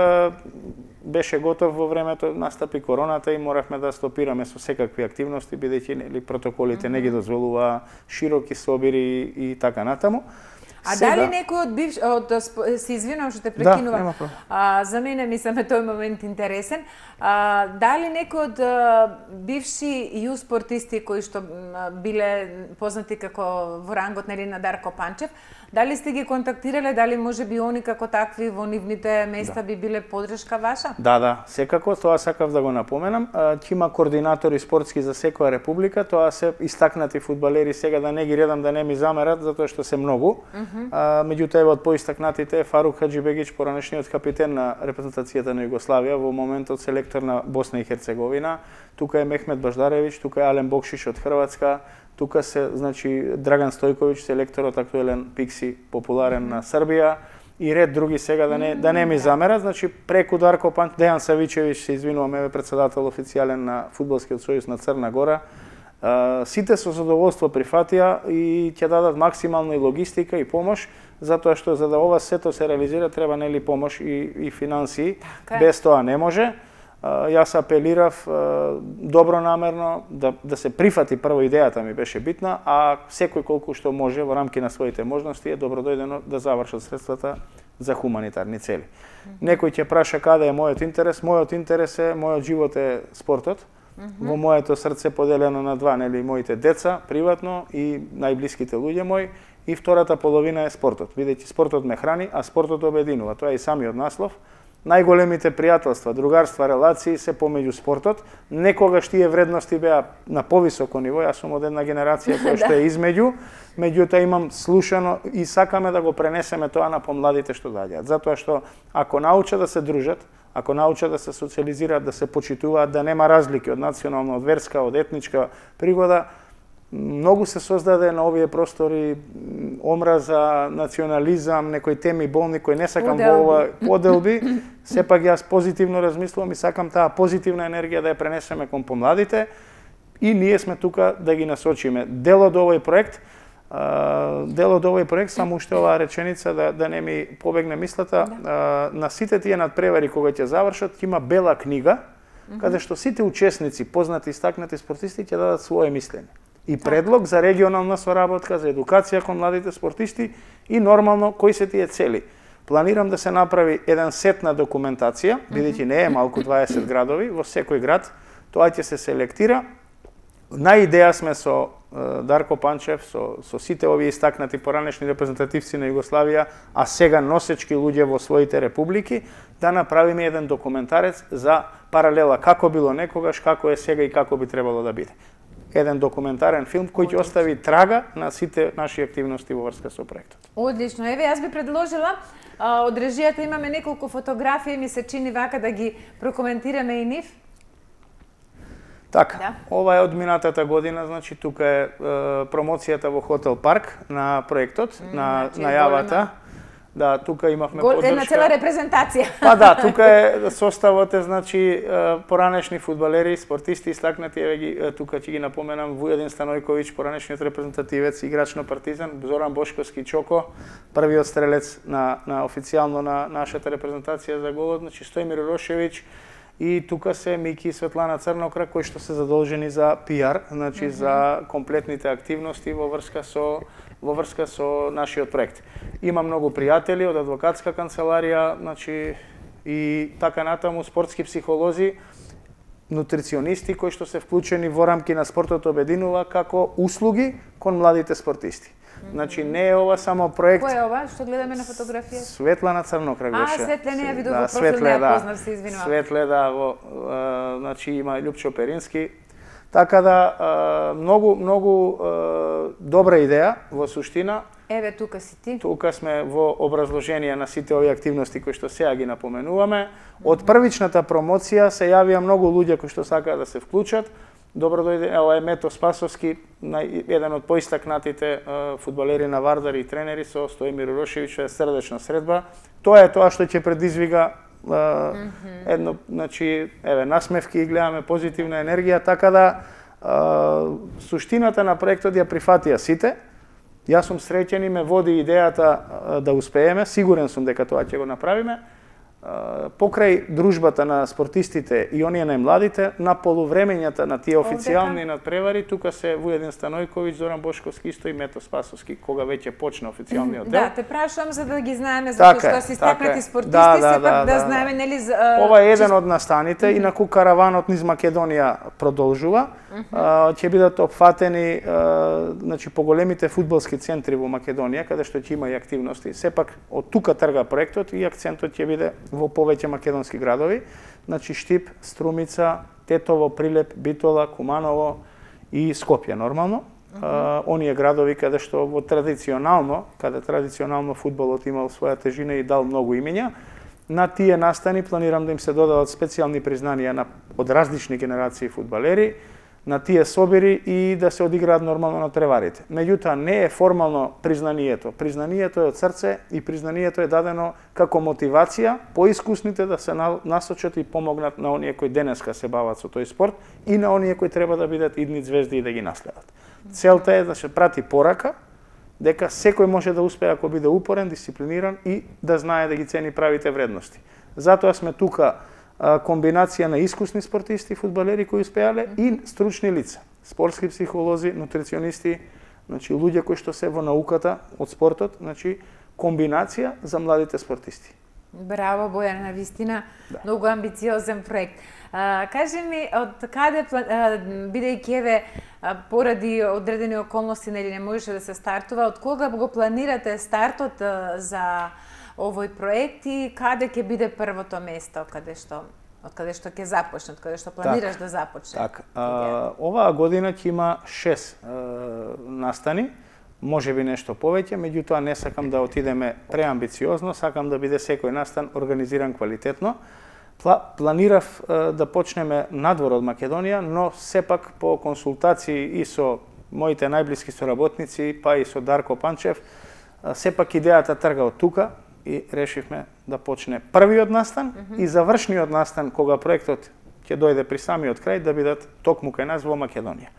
беше готов во времето, настапи короната и моравме да стопираме со секакви активности, бидејќи протоколите не ги дозволуваа широки собири и така натаму. А дали некој од се извинувам што те прекинувам. За мене мислам тој момент интересен. Дали некој од бивши ју спортисти кои што биле познати како во рангот на Дарко Панчев, дали сте ги контактирале, дали може би они како такви во нивните места би биле поддршка ваша? Да, секако, тоа сакав да го напоменам. Ќе има координатори спортски за секоја република, тоа се истакнати фудбалери, сега да не ги редам да не ми замерат, затоа што се многу. Меѓутоа од поистакнатите е Фарук Хаџибегич, поранешниот капитен на репрезентацијата на Југославија, во моментот селектор на Босна и Херцеговина. Тука е Мехмет Баждаревич, тука е Ален Бокшиш од Хрватска, тука се, значи, Драган Стојковиќ, селекторот актуелен Пикси, популарен на Србија, и ред други сега да не ми замерат. Значи, преку Дарко Панчев, Дејан Савичевич, се извинувам, е председател официјален на Фудбалскиот сојуз на Црна Гора. Сите со задоволство прифатија и ќе дадат максимална и логистика и помош, затоа што за да ова сето се реализира треба нели помош и финансии. Без тоа не може. Јас апелирав добронамерно да се прифати, прво идејата ми беше битна, а секој колку што може во рамки на своите можности е добродојдено да завршат средствата за хуманитарни цели. Некој ќе праша каде е мојот интерес. Мојот интерес е, мојот живот е спортот. Во моето срце поделено на два, нели, моите деца, приватно и најблиските луѓе мои, и втората половина е спортот. Бидејќи спортот ме храни, а спортот обединува. Тоа е и самиот наслов. Најголемите пријателства, другарства, релации се помеѓу спортот. Некогаш тие вредности беа на повисоко ниво, јас сум од една генерација која што е измеѓу, меѓутоа имам слушано и сакаме да го пренесеме тоа на помладите што доаѓаат. Затоа што ако научат да се дружат, ако научат да се социализираат, да се почитуваат, да нема разлики од национална, од верска, од етничка пригода, многу се создаде на овие простори омраза, национализам, некои теми болни кои не сакам во ова поделби. Сепак јас позитивно размислувам и сакам таа позитивна енергија да ја пренесеме кон помладите и ние сме тука да ги насочиме. Дел од овој проект, само уште оваа реченица да не ми побегне мислата, на сите тие надпревари кога ќе завршат, ќе има бела книга, каде што сите учесници, познати и стакнати спортисти ќе дадат своje мислење. И предлог за регионална соработка, за едукација кон младите спортисти и нормално кои се тие цели. Планирам да се направи еден сет на документација, бидејќи не е малку 20 градови, во секој град тоа ќе се селектира. На идеја сме со Дарко Панчев, со сите овие истакнати поранешни репрезентативци на Југославија, а сега носечки луѓе во своите републики, да направиме еден документарец за паралела како било некогаш, како е сега и како би требало да биде. Еден документарен филм кој ќе остави трага на сите наши активности во врска со проектот. Одлично. Еве, јас би предложила Од режијата имаме неколку фотографии, ми се чини вака да ги прокоментираме и нив. Така, Да. ова е од минатата година, значи тука е промоцијата во Хотел Парк на проектот, на значи најавата. голема. Да, тука имавме Една цела поддршка. репрезентација. Па да, тука е составот е значи поранешни фудбалери, спортисти истакнати, еве ги тука ќе ги напоменам Вујадин Станојковиќ, поранешниот репрезентативец, играч на Партизан, Зоран Бошковски Чоко, првиот стрелец на официјално на нашата репрезентација за голот, значи Стојмир Урошевиќ, и тука се Мики и Светлана Црнокра кои што се задолжени за пиар, значи за комплетните активности во врска со нашиот проект. Има многу пријатели од адвокатска канцеларија, значи и така натаму спортски психолози, нутриционисти кои што се вклучени во рамки на Спортот обединува како услуги кон младите спортисти. Значи не е ова само проект. Кој е ова? Што гледаме на фотографија? Светлана Црнокра беше. Светле, не ја видов во профил, не ја познав, се извинувам. Светле, да, значи има Љупчо Перински. Така да, многу добра идеја во суштина. Еве тука си ти. Тука сме во образложение на сите овие активности кои што сега ги напоменуваме. Од првичната промоција се јавија многу луѓе кои што сакаат да се вклучат. Добро дојде, ова е Мето Спасовски, еден од поистакнатите фудбалери на Вардар и тренери со Стојмир Урошевиќ, е срдечна средба. Тоа е тоа што ќе предизвига едно, значи, еве, насмевки и гледаме позитивна енергија, така да суштината на проектот ја прифатија сите. Јас сум среќен и ме води идејата да успееме, сигурен сум дека тоа ќе го направиме. Покрај дружбата на спортистите и оние најмладите, на полувремењата на тие официјални надпревари, тука се Вујадин Станојковиќ, Зоран Бошковски исто и Мето Спасовски, кога веќе почна официјалниот дел. Да, те прашувам за да ги знаеме, затоа што си стакнати спортисти, сепак да знаеме, нели... Ова е еден од настаните, инаку караванот низ Македонија продолжува. Ќе бидат опфатени значи поголемите фудбалски центри во Македонија, каде што ќе има и активности. Сепак од тука трга проектот и акцентот ќе биде во повеќе македонски градови, значи Штип, Струмица, Тетово, Прилеп, Битола, Куманово и Скопје нормално. Оние градови каде што каде традиционално фудбалот имал своја тежина и дал многу имења. На тие настани планирам да им се додадат специјални признанија од различни генерации фудбалери, на тие собери и да се одиграат нормално на треварите. Меѓутоа не е формално признанието. Признанието е од срце и признанието е дадено како мотивација поискусните да се насочат и помогнат на оние кои денеска се бават со тој спорт и на оние кои треба да бидат идни звезди и да ги наследат. Целта е да се прати порака дека секој може да успее ако биде упорен, дисциплиниран и да знае да ги цени правите вредности. Затоа сме тука комбинација на искусни спортисти, фудбалери кои успеале и стручни лица, спортски психолози, нутриционисти, значи луѓе кои што се во науката од спортот, значи комбинација за младите спортисти. Браво, Бојан, навистина, многу амбициозен проект. Кажи ми, од каде, бидејќи еве поради одредени околности нели не можеше да се стартува, од кога го планирате стартот за овој проект и каде ќе биде првото место од каде што ќе започне, од каде што планираш да започне? Така, оваа година ќе има 6 настани, може би нешто повеќе, меѓутоа не сакам да отидеме преамбициозно, сакам да биде секој настан организиран квалитетно. Планирав да почнеме надвор од Македонија, но сепак по консултации и со моите најблиски соработници, па и со Дарко Панчев, сепак идејата трга од тука и решивме да почне првиот настан и завршниот настан кога проектот ќе дојде при самиот крај да бидат токму кај нас во Македонија.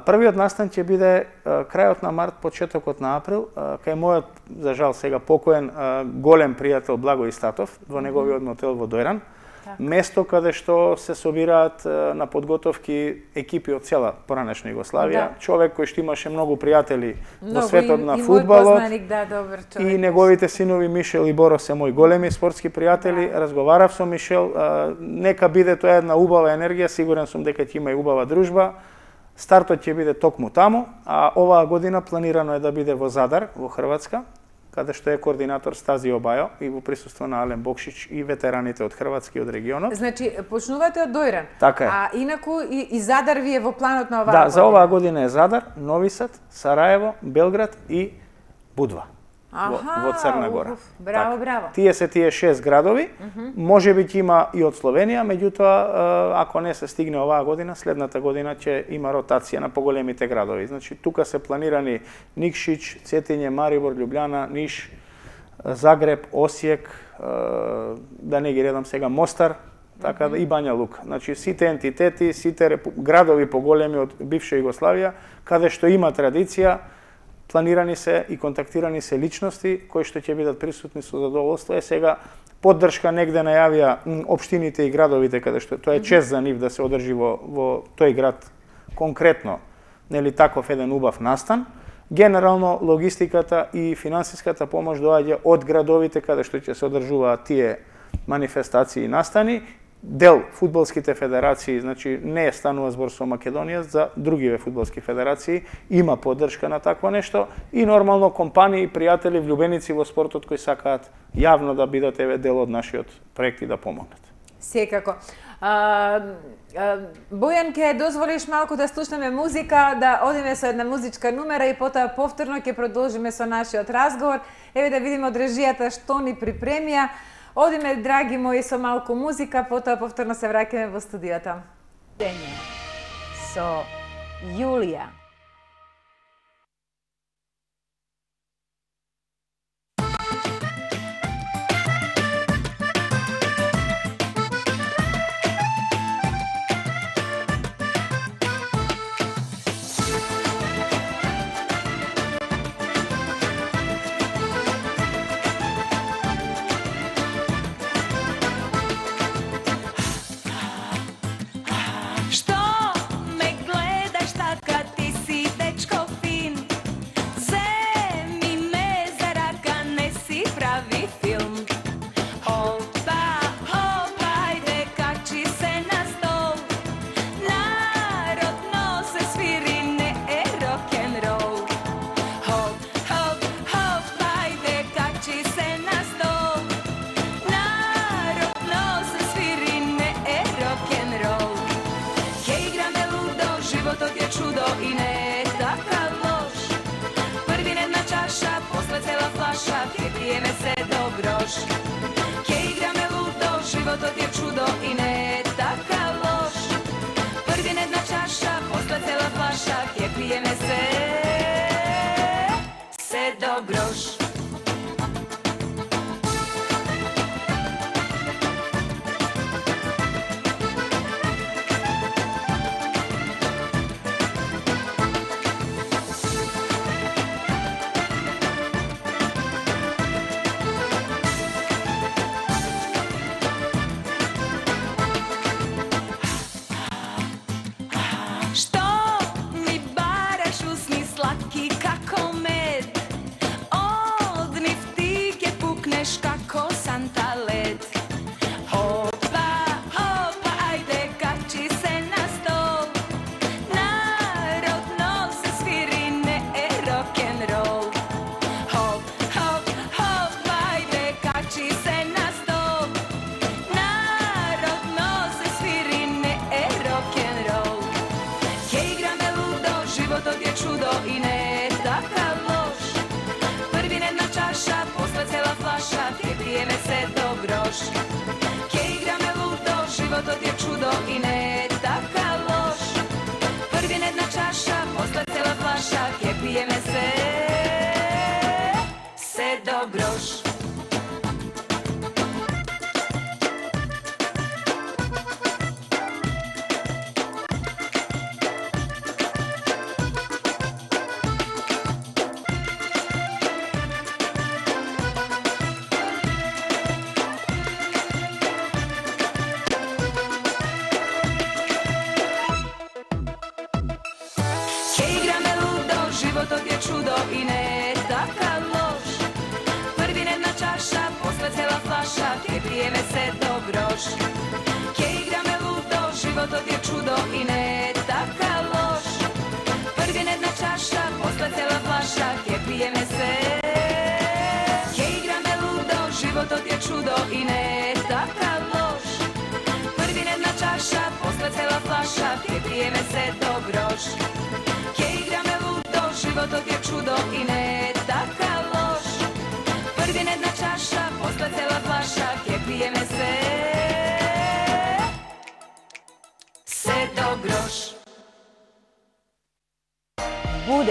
Првиот настан ќе биде крајот на март, почетокот на април, кај мојот, за жал сега покоен, голем пријател Благој Статов, во неговиот мотел во Дојран. Место каде што се собираат на подготовки екипи од цела поранешна Југославија. Човек кој што имаше многу пријатели во светот на фудбалот. И неговите синови Мишел и Боро се мои големи спортски пријатели. Разговарав со Мишел, нека биде тоа една убава енергија, сигурен сум дека ќе има и убава дружба. Стартот ќе биде токму таму, а оваа година планирано е да биде во Задар, во Хрватска, каде што е координатор Стази Обајо и во присуство на Ален Бокшич и ветераните од Хрватски и од регионот. Значи, почнувате од Дојран. Така е. А инаку и Задар ви е во планот на оваа година? година? За оваа година е Задар, Нови Сад, Сараево, Белград и Будва. во Црна Гора. Браво, браво. Тие 6 градови, може би ќе има и од Словенија, меѓутоа ако не се стигне оваа година, следната година ќе има ротација на поголемите градови. Значи тука се планирани Никшиć, Цетиње, Марибор, Љубљана, Ниш, Загреб, Осијек, да не ги редам сега, Мостар, така и Бања Лука. Значи сите ентитети, сите градови поголеми од бивша Југославија, каде што има традиција, планирани се и контактирани се личности кои што ќе бидат присутни со задоволство. Сега поддршка негде најавија општините и градовите каде што тоа е чест за нив да се одржи во тој град конкретно, нели таков еден убав настан. Генерално логистиката и финансиската помош доаѓа од градовите каде што ќе се одржуваат тие манифестации и настани. Дел фудбалските федерации, значи не станува збор со Македонија, за другиве фудбалски федерации има поддршка на такво нешто и нормално компании, пријатели, влюбеници во спортот кои сакаат јавно да бидат дел од нашиот проект и да помогнат. Секако. Бојан, ќе дозволиш малку да слушнеме музика, да одиме со една музичка номера и потоа повторно ќе продолжиме со нашиот разговор. Еве да видиме од режијата што ни припремија. Одиме, драги мои, со малку музика, потоа повторно се враќаме во студиото. Со Јулија.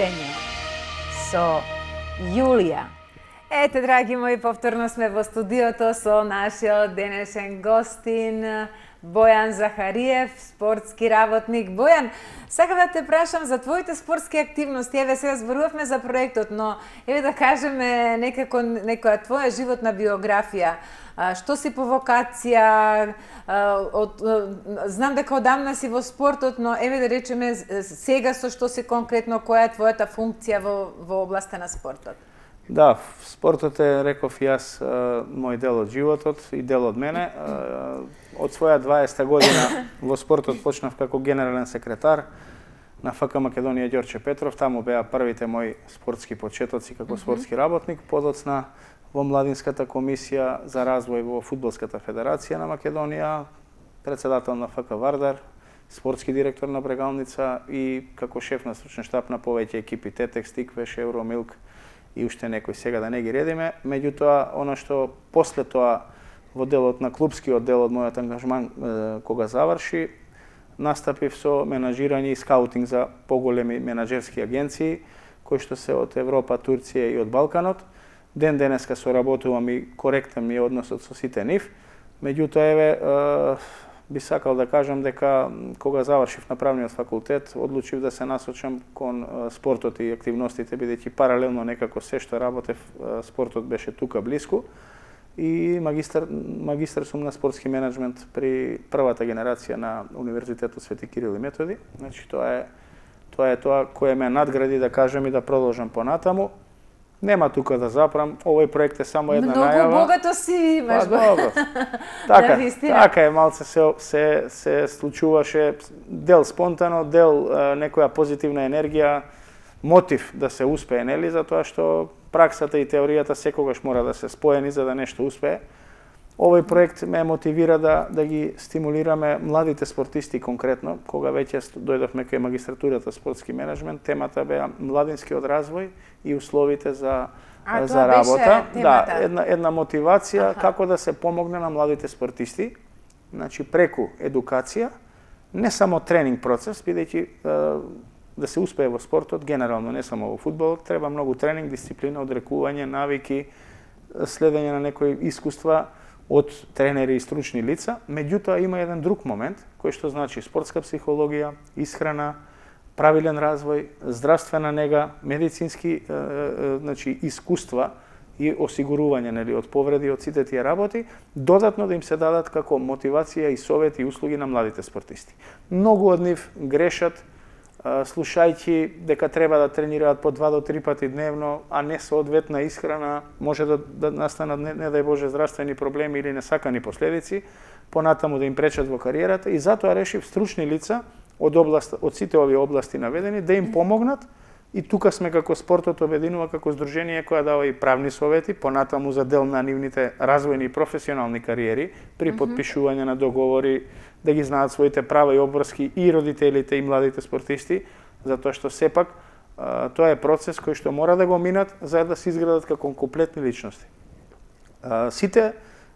будење со Јулија. Ете, драги мои, повторно сме во студиото со нашиот денешен гостин Бојан Захариев, спортски работник. Бојан, сакам да те прашам за твоите спортски активности. Еве, сега зборувавме за проектот, но еве да кажеме некако некоја твоја животна биографија. Што си по вокација? Знам дека одамна си во спортот, но еве да речеме сега со што си конкретно, која е твојата функција во областа на спортот? Да, спортот е, реков и јас, мој дел од животот и дел од мене. Од своја 20 година во спортот почнав како генерален секретар на ФК Македонија Ѓорче Петров. Таму беа првите мои спортски почетоци како спортски работник. Подоцна во Младинската комисија за развој во Фудбалската федерација на Македонија, председател на ФК Вардар, спортски директор на Брегалница и како шеф на стручен штаб на повеќе екипи Тетекс, Тиквеш, Евромилк и уште некои, сега да не ги редиме. Меѓутоа, она што после тоа во делот на клубскиот дел од мојот ангажман кога заврши, настапив со менаџирање и скаутинг за поголеми менаџерски агенции кои што се од Европа, Турција и од Балканот. Ден денеска соработувам и коректен ми е односот со сите нив. Меѓутоа, еве, би сакал да кажам дека кога завршив на правниот факултет, одлучив да се насочам кон спортот и активностите, бидејќи паралелно некако се што работев, спортот беше тука блиску. И магистар сум на спортски менеджмент при првата генерација на Универзитетот Свети Кирил и Методи. Значи, тоа е тоа кое ме надгради, да кажем, и да продолжам понатаму. Нема тука да запрам, овој проект е само една најава. Многу богато си имаш. Добро. Така е, малце се случуваше, дел спонтано, дел некоја позитивна енергија, мотив да се успее, нели, затоа што праксата и теоријата секогаш мора да се споени за да нешто успее. Овој проект ме мотивира да ги стимулираме младите спортисти конкретно. Кога веќе дојдовме кај магистратурата спортски менеджмент, темата беа младинскиот развој и условите за работа. Да, една мотивација како да се помогне на младите спортисти, значи преку едукација, не само тренинг процес, бидејќи да се успее во спортот, генерално не само во фудбалот, треба многу тренинг, дисциплина, одрекување, навики, следење на некои искуства од тренери и стручни лица. Меѓутоа има еден друг момент, кој што значи спортска психологија, исхрана, правилен развој, здравствена нега, медицински значи искуства и осигурување, нели, од повреди, од сите тие работи, додатно да им се дадат како мотивација и совети и услуги на младите спортисти. Многу од нив грешат слушајќи дека треба да тренираат по 2 до 3 пати дневно, а не соодветна исхрана, може да настанат, не дај Боже, здравствени проблеми или несакани последици, понатаму да им пречат во кариерата, и затоа решив стручни лица од сите овие области наведени да им помогнат, и тука сме како спортот обединува како здружение која дава и правни совети, понатаму за дел на нивните развојни и професионални кариери, при подпишување на договори, да ги знаат своите права и обврски и родителите и младите спортисти, затоа што сепак тоа е процес кој што мора да го минат за да се изградат како комплетни личности. Сите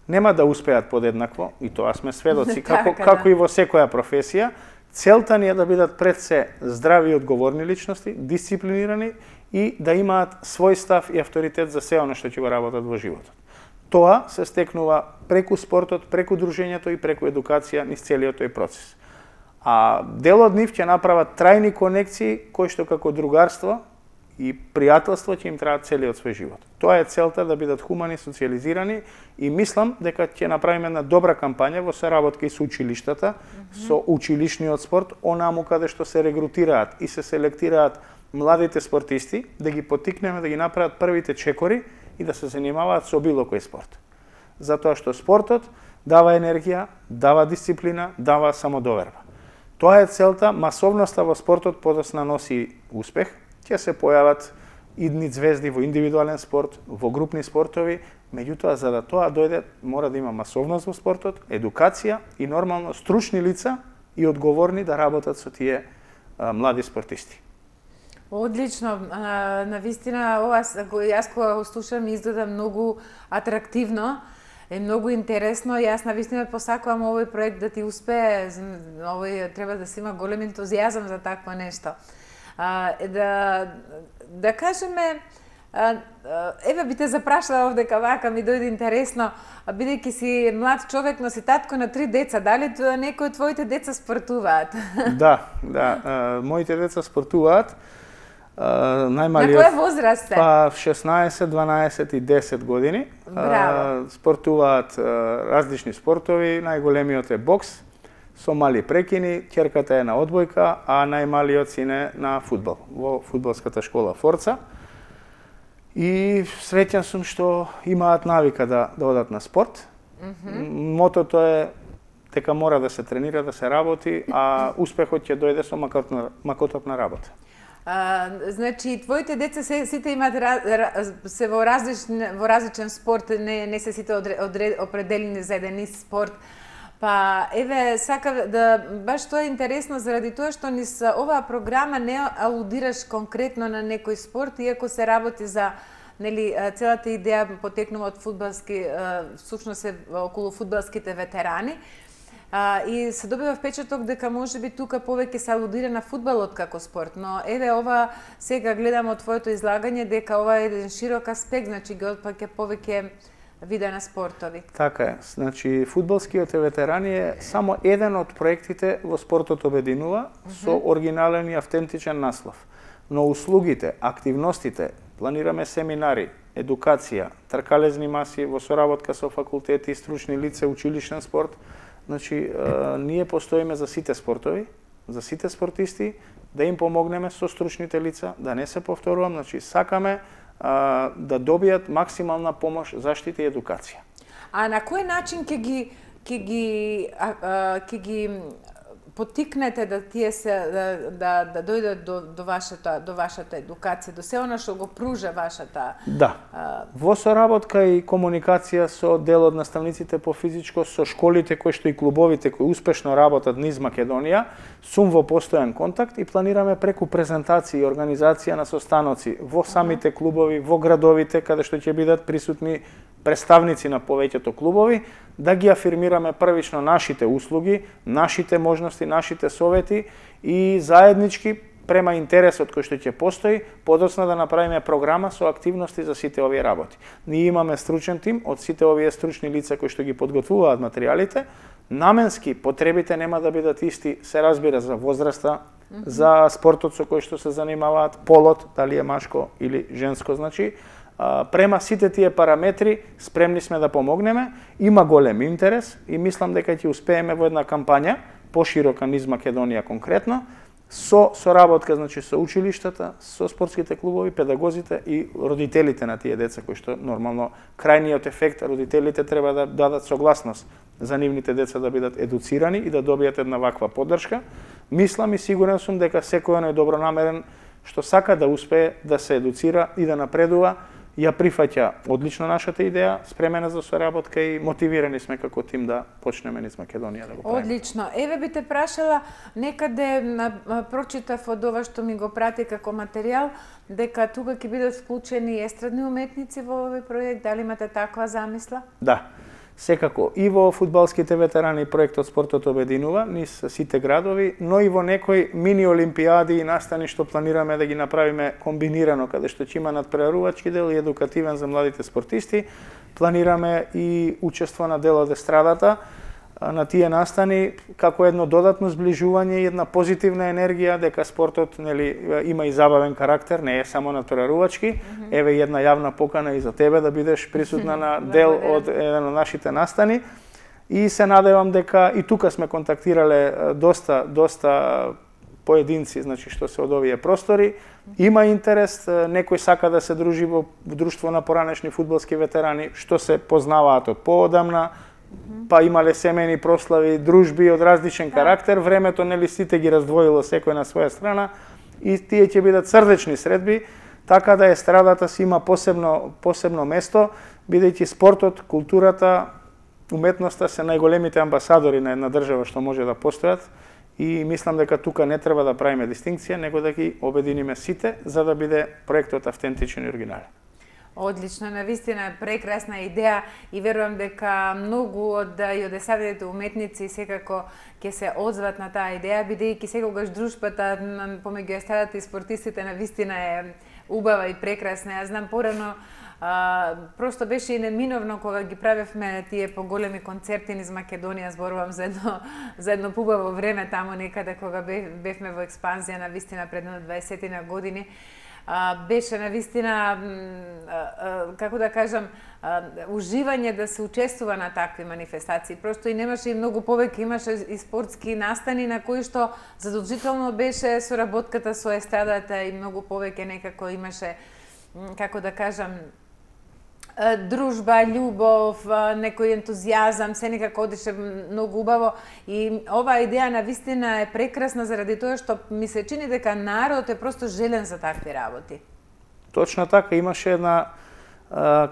нема да успеат подеднакво, и тоа сме сведоци, како и во секоја професија. Целта ни е да бидат пред се здрави и одговорни личности, дисциплинирани и да имаат свој став и авторитет за се оно што ќе го работат во животот. Тоа се стекнува преку спортот, преку дружењето и преку едукација низ целиот тој процес. А дел од нив ќе направат трајни конекции кои што како другарство и пријателство ќе им траат целиот свој живот. Тоа е целта, да бидат хумани, социализирани, и мислам дека ќе направиме една добра кампања во соработка и со училиштата, со училишниот спорт, онаму каде што се регрутираат и се селектираат младите спортисти, да ги поттикнеме да ги направат првите чекори и да се занимаваат со било кој спорт. Затоа што спортот дава енергија, дава дисциплина, дава самодоверба. Тоа е целта, масовноста во спортот подосна носи успех, ќе се појават идни звезди во индивидуален спорт, во групни спортови, меѓутоа за да тоа дојде мора да има масовност во спортот, едукација и нормално стручни лица и одговорни да работат со тие млади спортисти. Одлично, навистина ова јас кога го слушам изгледа многу атрактивно, е многу интересно. Јас навистина посакувам овој проект да ти успее. Овој треба да се има голем ентузијазам за такво нешто. Да кажеме, еве би те запрашала овдека вака ми дојде интересно, бидејќи си млад човек, но си татко на 3 деца, дали некои од твоите деца спортуваат? Да, моите деца спортуваат. Најмалиот... На која возраст се? Па 16, 12 и 10 години. Браво. Спортуваат различни спортови, најголемиот е бокс, со мали прекини, ќерката е на одбојка, а најмалиот син е на фудбал, во фудбалската школа Форца. И среќен сум што имаат навика да одат на спорт. Мотото е дека мора да се тренира, да се работи, а успехот ќе дојде со макоток на работа. Значи, твоите деца сите имаат се во различен спорт, не се сите определени за еден ист спорт. Па, еве, сакав да, баш тоа е интересно заради тоа што низ оваа програма не алудираш конкретно на некој спорт, иако се работи за, нели, целата идеја потекнува од фудбалски, всушност е околу фудбалските ветерани. И се добива впечаток дека можеби тука повеќе се алудира на фудбалот како спорт, но еве ова сега гледам од твоето излагање дека ова е еден широк аспект, значи ги отпаќа повеќе вида на спортови. Така е. Значи, фудбалскиот ветерани е само еден од проектите во Спортот обединува со оригинален и автентичен наслов. Но услугите, активностите, планираме семинари, едукација, тркалезни маси во соработка со факултети, стручни лица, училишен спорт. Значи, ние постоиме за сите спортови, за сите спортисти, да им помогнеме со стручните лица, да не се повторувам, значи сакаме да добијат максимална помош, заштита и едукација. А на кој начин ќе ги потикнете да тие се да дојдат до вашата едукација, до се она што го пружа вашата? Да. Во соработка и комуникација со дел од наставниците по физичко, со школите кои што и клубовите кои успешно работат низ Македонија, сум во постојан контакт и планираме преку презентации и организација на состаноци во самите клубови, во градовите каде што ќе бидат присутни представници на повеќето клубови, да ги афирмираме првично нашите услуги, нашите можности, нашите совети и заеднички према интересот кој што ќе постои, подоцна да направиме програма со активности за сите овие работи. Ние имаме стручен тим од сите овие стручни лица кои што ги подготвуваат материјалите. Наменски потребите нема да бидат исти, се разбира, за возраста, за спортот со кој што се занимаваат, полот, дали е машко или женско, значи, према сите тие параметри спремни сме да помогнеме. Има голем интерес и мислам дека ќе успееме во една кампања поширока низ Македонија конкретно, со соработка, значи, со училиштата, со спортските клубови, педагозите и родителите на тие деца, кои што нормално крајниот ефект, родителите треба да дадат согласност за нивните деца да бидат едуцирани и да добијат една ваква поддршка. Мислам и сигурен сум дека секој оној добронамерен што сака да успее да се едуцира и да напредува, ја прифаќа одлично нашата идеја, спремена за соработка и мотивирани сме како тим да почнеме низ Македонија да го правиме. Одлично. Еве би те прашала, некаде прочитав од ова што ми го прати како материјал, дека тука ќе бидат вклучени естрадни уметници во овој проект. Дали имате таква замисла? Да. Секако, и во фудбалските ветерани проектот Спортот обединува низ сите градови, но и во некои мини олимпиади и настани што планираме да ги направиме комбинирано, каде што ќе има надпреварувачки дел и едукативен за младите спортисти. Планираме и учество на дел од естрадата на тие настани како едно додатно зближување и една позитивна енергија дека спортот, нели, има и забавен карактер, не е само надпреварувачки. Еве една јавна покана и за тебе да бидеш присутна на дел од еден од нашите настани. И се надевам дека и тука сме контактирале доста поединци, значи, што се од овие простори. Има интерес, некој сака да се дружи во друштво на поранешни фудбалски ветерани, што се познаваат од поодамна, па имале семејни прослави, дружби од различен карактер, времето, нели, сите ги раздвоило секој на своја страна и тие ќе бидат срдечни средби, така да естрадата си има посебно место, бидејќи спортот, културата, уметноста се најголемите амбасадори на една држава што може да постојат и мислам дека тука не треба да правиме дистинкција, него да ги обединиме сите за да биде проектот автентичен и оригинален. Одлично, навистина прекрасна идеја и верувам дека многу од јодесавите уметници секако ќе се одзват на таа идеја, бидејќи секогаш дружбата помеѓу естрадата и спортистите навистина е убава и прекрасна. Јас знам порано просто беше и неминовно кога ги правевме тие поголеми концерти низ Македонија, зборувам за едно пубаво време таму некаде кога бевме во експанзија навистина пред 20 години. Беше навистина, како да кажам, уживање да се учествува на такви манифестации. Просто и немаше и многу повеќе, имаше и спортски настани на кои што задолжително беше соработката со естрадата и многу повеќе некако имаше, како да кажам, дружба, љубов, некој ентузијазам, се некако одише многу убаво и оваа идеја навистина е прекрасна заради тоа што ми се чини дека народот е просто желен за такви работи. Точно така, имаше една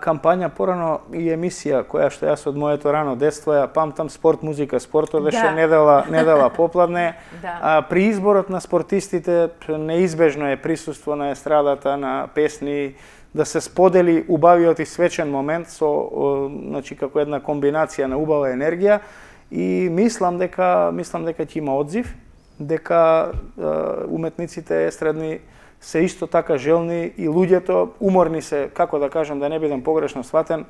кампања порано и емисија која што јас од моето рано детство ја памтам, спорт, музика, спортот беше недела попладне. При изборот на спортистите неизбежно е присуство на естрадата, на песни, да се сподели убавиот и свечен момент со значи како една комбинација на убава енергија и мислам дека ќе има одзив, дека уметниците естрадни се исто така желни и луѓето уморни се, како да кажам, да не бидам погрешно сватен,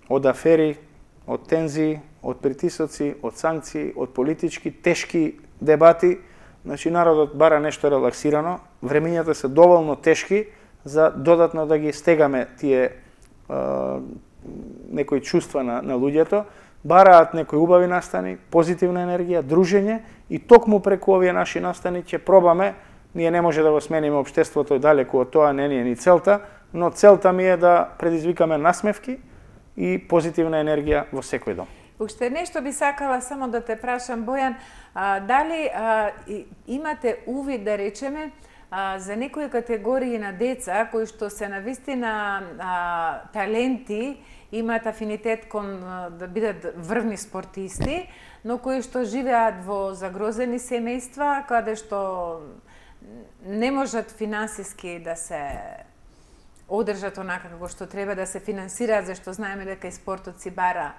од афери, од тензии, од притисоци, од санкции, од политички тешки дебати. Значи народот бара нешто релаксирано, времињата се доволно тешки за додатно да ги стегаме тие некои чувства на луѓето, бараат некои убави настани, позитивна енергија, дружење и токму преку овие наши настани ќе пробаме, ние не може да го смениме општеството далеку од тоа, не ни е ни целта, но целта ми е да предизвикаме насмевки и позитивна енергија во секој дом. Уште нешто би сакала само да те прашам, Бојан, дали имате увид, да речеме, за некои категории на деца кои што се навистина таленти, имаат афинитет кон да бидат врвни спортисти, но кои што живеат во загрозени семејства, каде што не можат финансиски да се одржат онака како што треба, да се финансираат, зашто знаеме дека и спортот си бара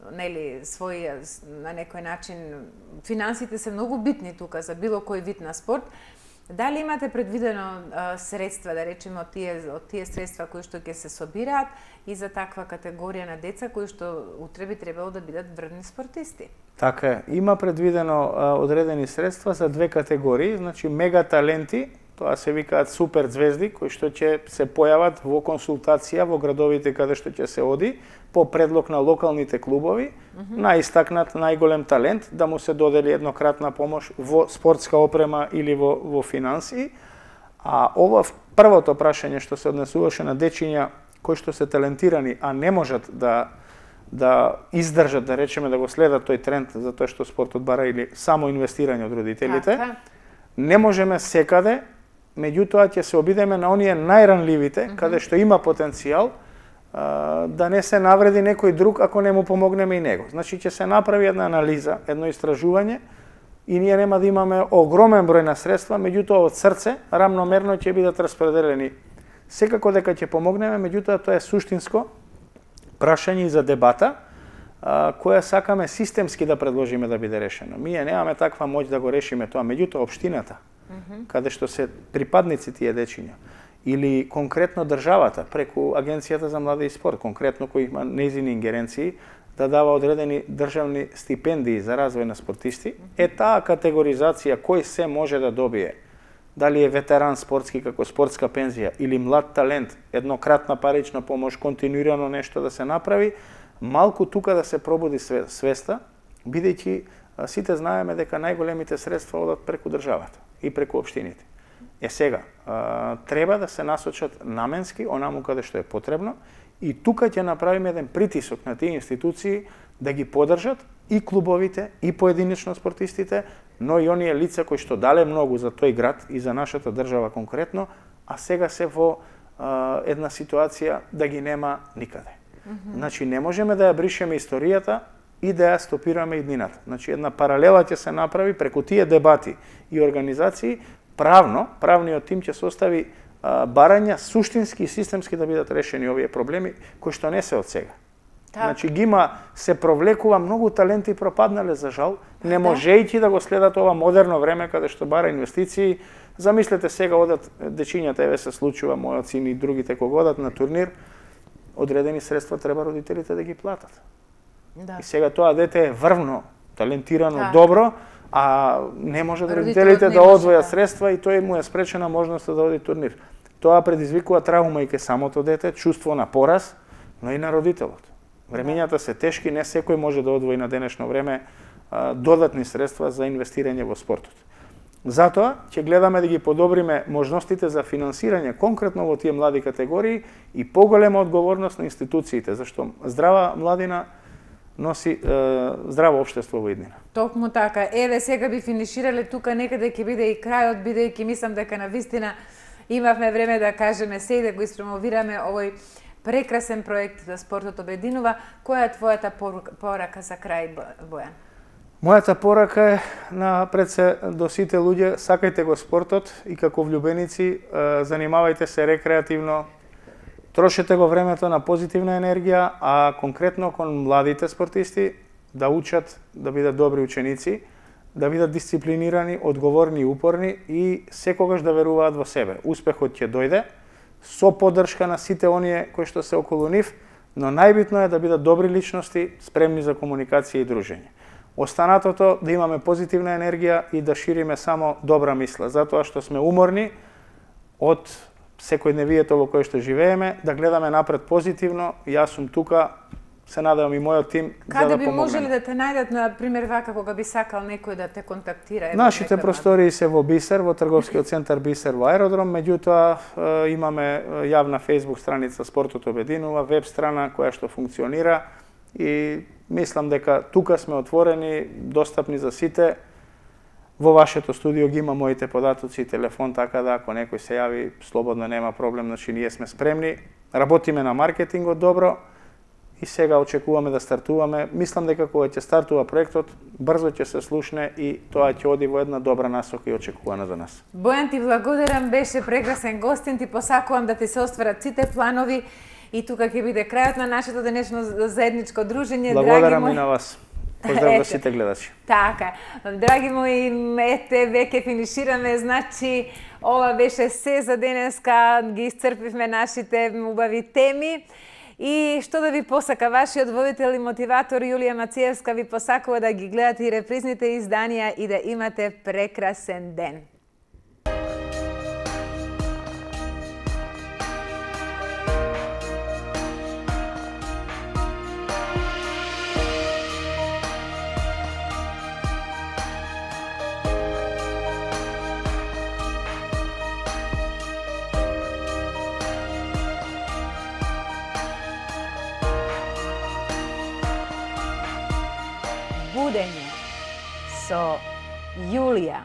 свој на некој начин. Финансите се многу битни тука за било кој вид на спорт. Дали имате предвидено средства, да речеме, од тие средства кои што ќе се собираат и за таква категорија на деца кои што утре би требало да бидат врвни спортисти? Така е. Има предвидено одредени средства за две категории, значи мега таленти, тоа се викаат супер звезди, кои што ќе се појават во консултација во градовите каде што ќе се оди, по предлог на локалните клубови, најистакнат, најголем талент, да му се додели еднократна помош во спортска опрема или во финансии. А ова првото прашање што се однесуваше на дечиња кои што се талентирани, а не можат да издржат, да речеме, да го следат тој тренд, затоа што спортот бара или само инвестирање од родителите, не можеме секаде, меѓутоа ќе се обидеме на оние најранливите, каде што има потенцијал, да не се навреди некој друг ако не му помогнеме и него. Значи ќе се направи една анализа, едно истражување и ние нема да имаме огромен број на средства, меѓутоа од срце рамномерно ќе бидат распределени. Секако дека ќе помогнеме, меѓутоа тоа е суштинско прашање за дебата, која сакаме системски да предложиме да биде решено. Ние немаме таква моќ да го решиме тоа, меѓутоа општината, каде што се припадници тие дечиња, или конкретно државата преку Агенцијата за млади и спорт, конкретно кој има нејзини ингеренции, да дава одредени државни стипендии за развој на спортисти, е таа категоризација кој се може да добие. Дали е ветеран спортски како спортска пензија или млад талент, еднократна парична помош, континуирано нешто да се направи, малку тука да се пробуди свеста, бидејќи сите знаеме дека најголемите средства одат преку државата и преку општините. Сега, треба да се насочат наменски, онаму каде што е потребно, и тука ќе направиме еден притисок на тие институции да ги поддржат и клубовите, и поединечно спортистите, но и оние лица кои што дале многу за тој град и за нашата држава конкретно, а сега се во една ситуација да ги нема никаде. Значи, не можеме да ја бришеме историјата и да ја стопираме иднината. Значи, една паралела ќе се направи преку тие дебати и организации. Правниот тим ќе состави барања суштински и системски да бидат решени овие проблеми, кои што не се од сега. Значи ги има, се провлекува, многу таленти пропаднале за жал, не можејќи да го следат ова модерно време каде што бара инвестиции. Замислете сега одат дечињата, еве се случува, мојот син и другите кога одат на турнир, одредени средства треба родителите да ги платат. И сега тоа дете е врвно, талентирано, добро, а не може да родителите да одвојат средства и тој му е спречена можноста да оди турнир. Тоа предизвикува травма и ке самото дете, чувство на пораз, но и на родителот. Времењата се тешки, не секој може да одвои на денешно време додатни средства за инвестирање во спортот. Затоа ќе гледаме да ги подобриме можностите за финансирање конкретно во тие млади категории и поголема одговорност на институциите, зашто здрава младина носи здраво општество во иднина. Токму така. Еве сега би финиширале тука, некаде ќе биде и крајот, бидејќи мислам дека навистина имавме време да кажеме се и да го испромовираме овој прекрасен проект за спортот обединува. Која е твојата порака за крај, Бојан? Мојата порака е напред се до сите луѓе, сакајте го спортот и како влюбеници занимавајте се рекреативно, трошете го времето на позитивна енергија, а конкретно кон младите спортисти да учат да бидат добри ученици, да бидат дисциплинирани, одговорни и упорни и секогаш да веруваат во себе. Успехот ќе дојде со поддршка на сите оние кои што се околу нив, но најбитно е да бидат добри личности, спремни за комуникација и дружење. Останатото да имаме позитивна енергија и да шириме само добра мисла, затоа што сме уморни од секојдневието во кое што живееме, да гледаме напред позитивно. Јас сум тука, се надевам и мојот тим за да помогнеме. Каде би можеле да те најдат, на пример, вака кога би сакал некој да те контактира? Нашите простории се во Бисер, во трговскиот центар Бисер во Аеродром, меѓутоа имаме јавна Facebook страница Спортот обединува, веб страна која што функционира и мислам дека тука сме отворени, достапни за сите. Во вашето студио ги има моите податоци и телефон, така да ако некој се јави, слободно нема проблем, значи ние сме спремни. Работиме на маркетингот добро и сега очекуваме да стартуваме. Мислам дека кога ќе стартува проектот, брзо ќе се слушне и тоа ќе оди во една добра насока и очекувана за нас. Бојан, ти благодарам, беше прекрасен гостин, ти посакувам да ти се остварат сите планови и тука ќе биде крајот на нашето денешно заедничко дружење. Благодарам и на вас. Поздрав до сите гледачи. Така, драги мои, ете, веќе финишираме, значи, ова беше се за денеска, ги исцрпивме нашите убави теми. И што да ви посака, вашиот водител и мотиватор Јулија Мациевска ви посакува да ги гледате и репризните изданија и да имате прекрасен ден. Будење со Јулија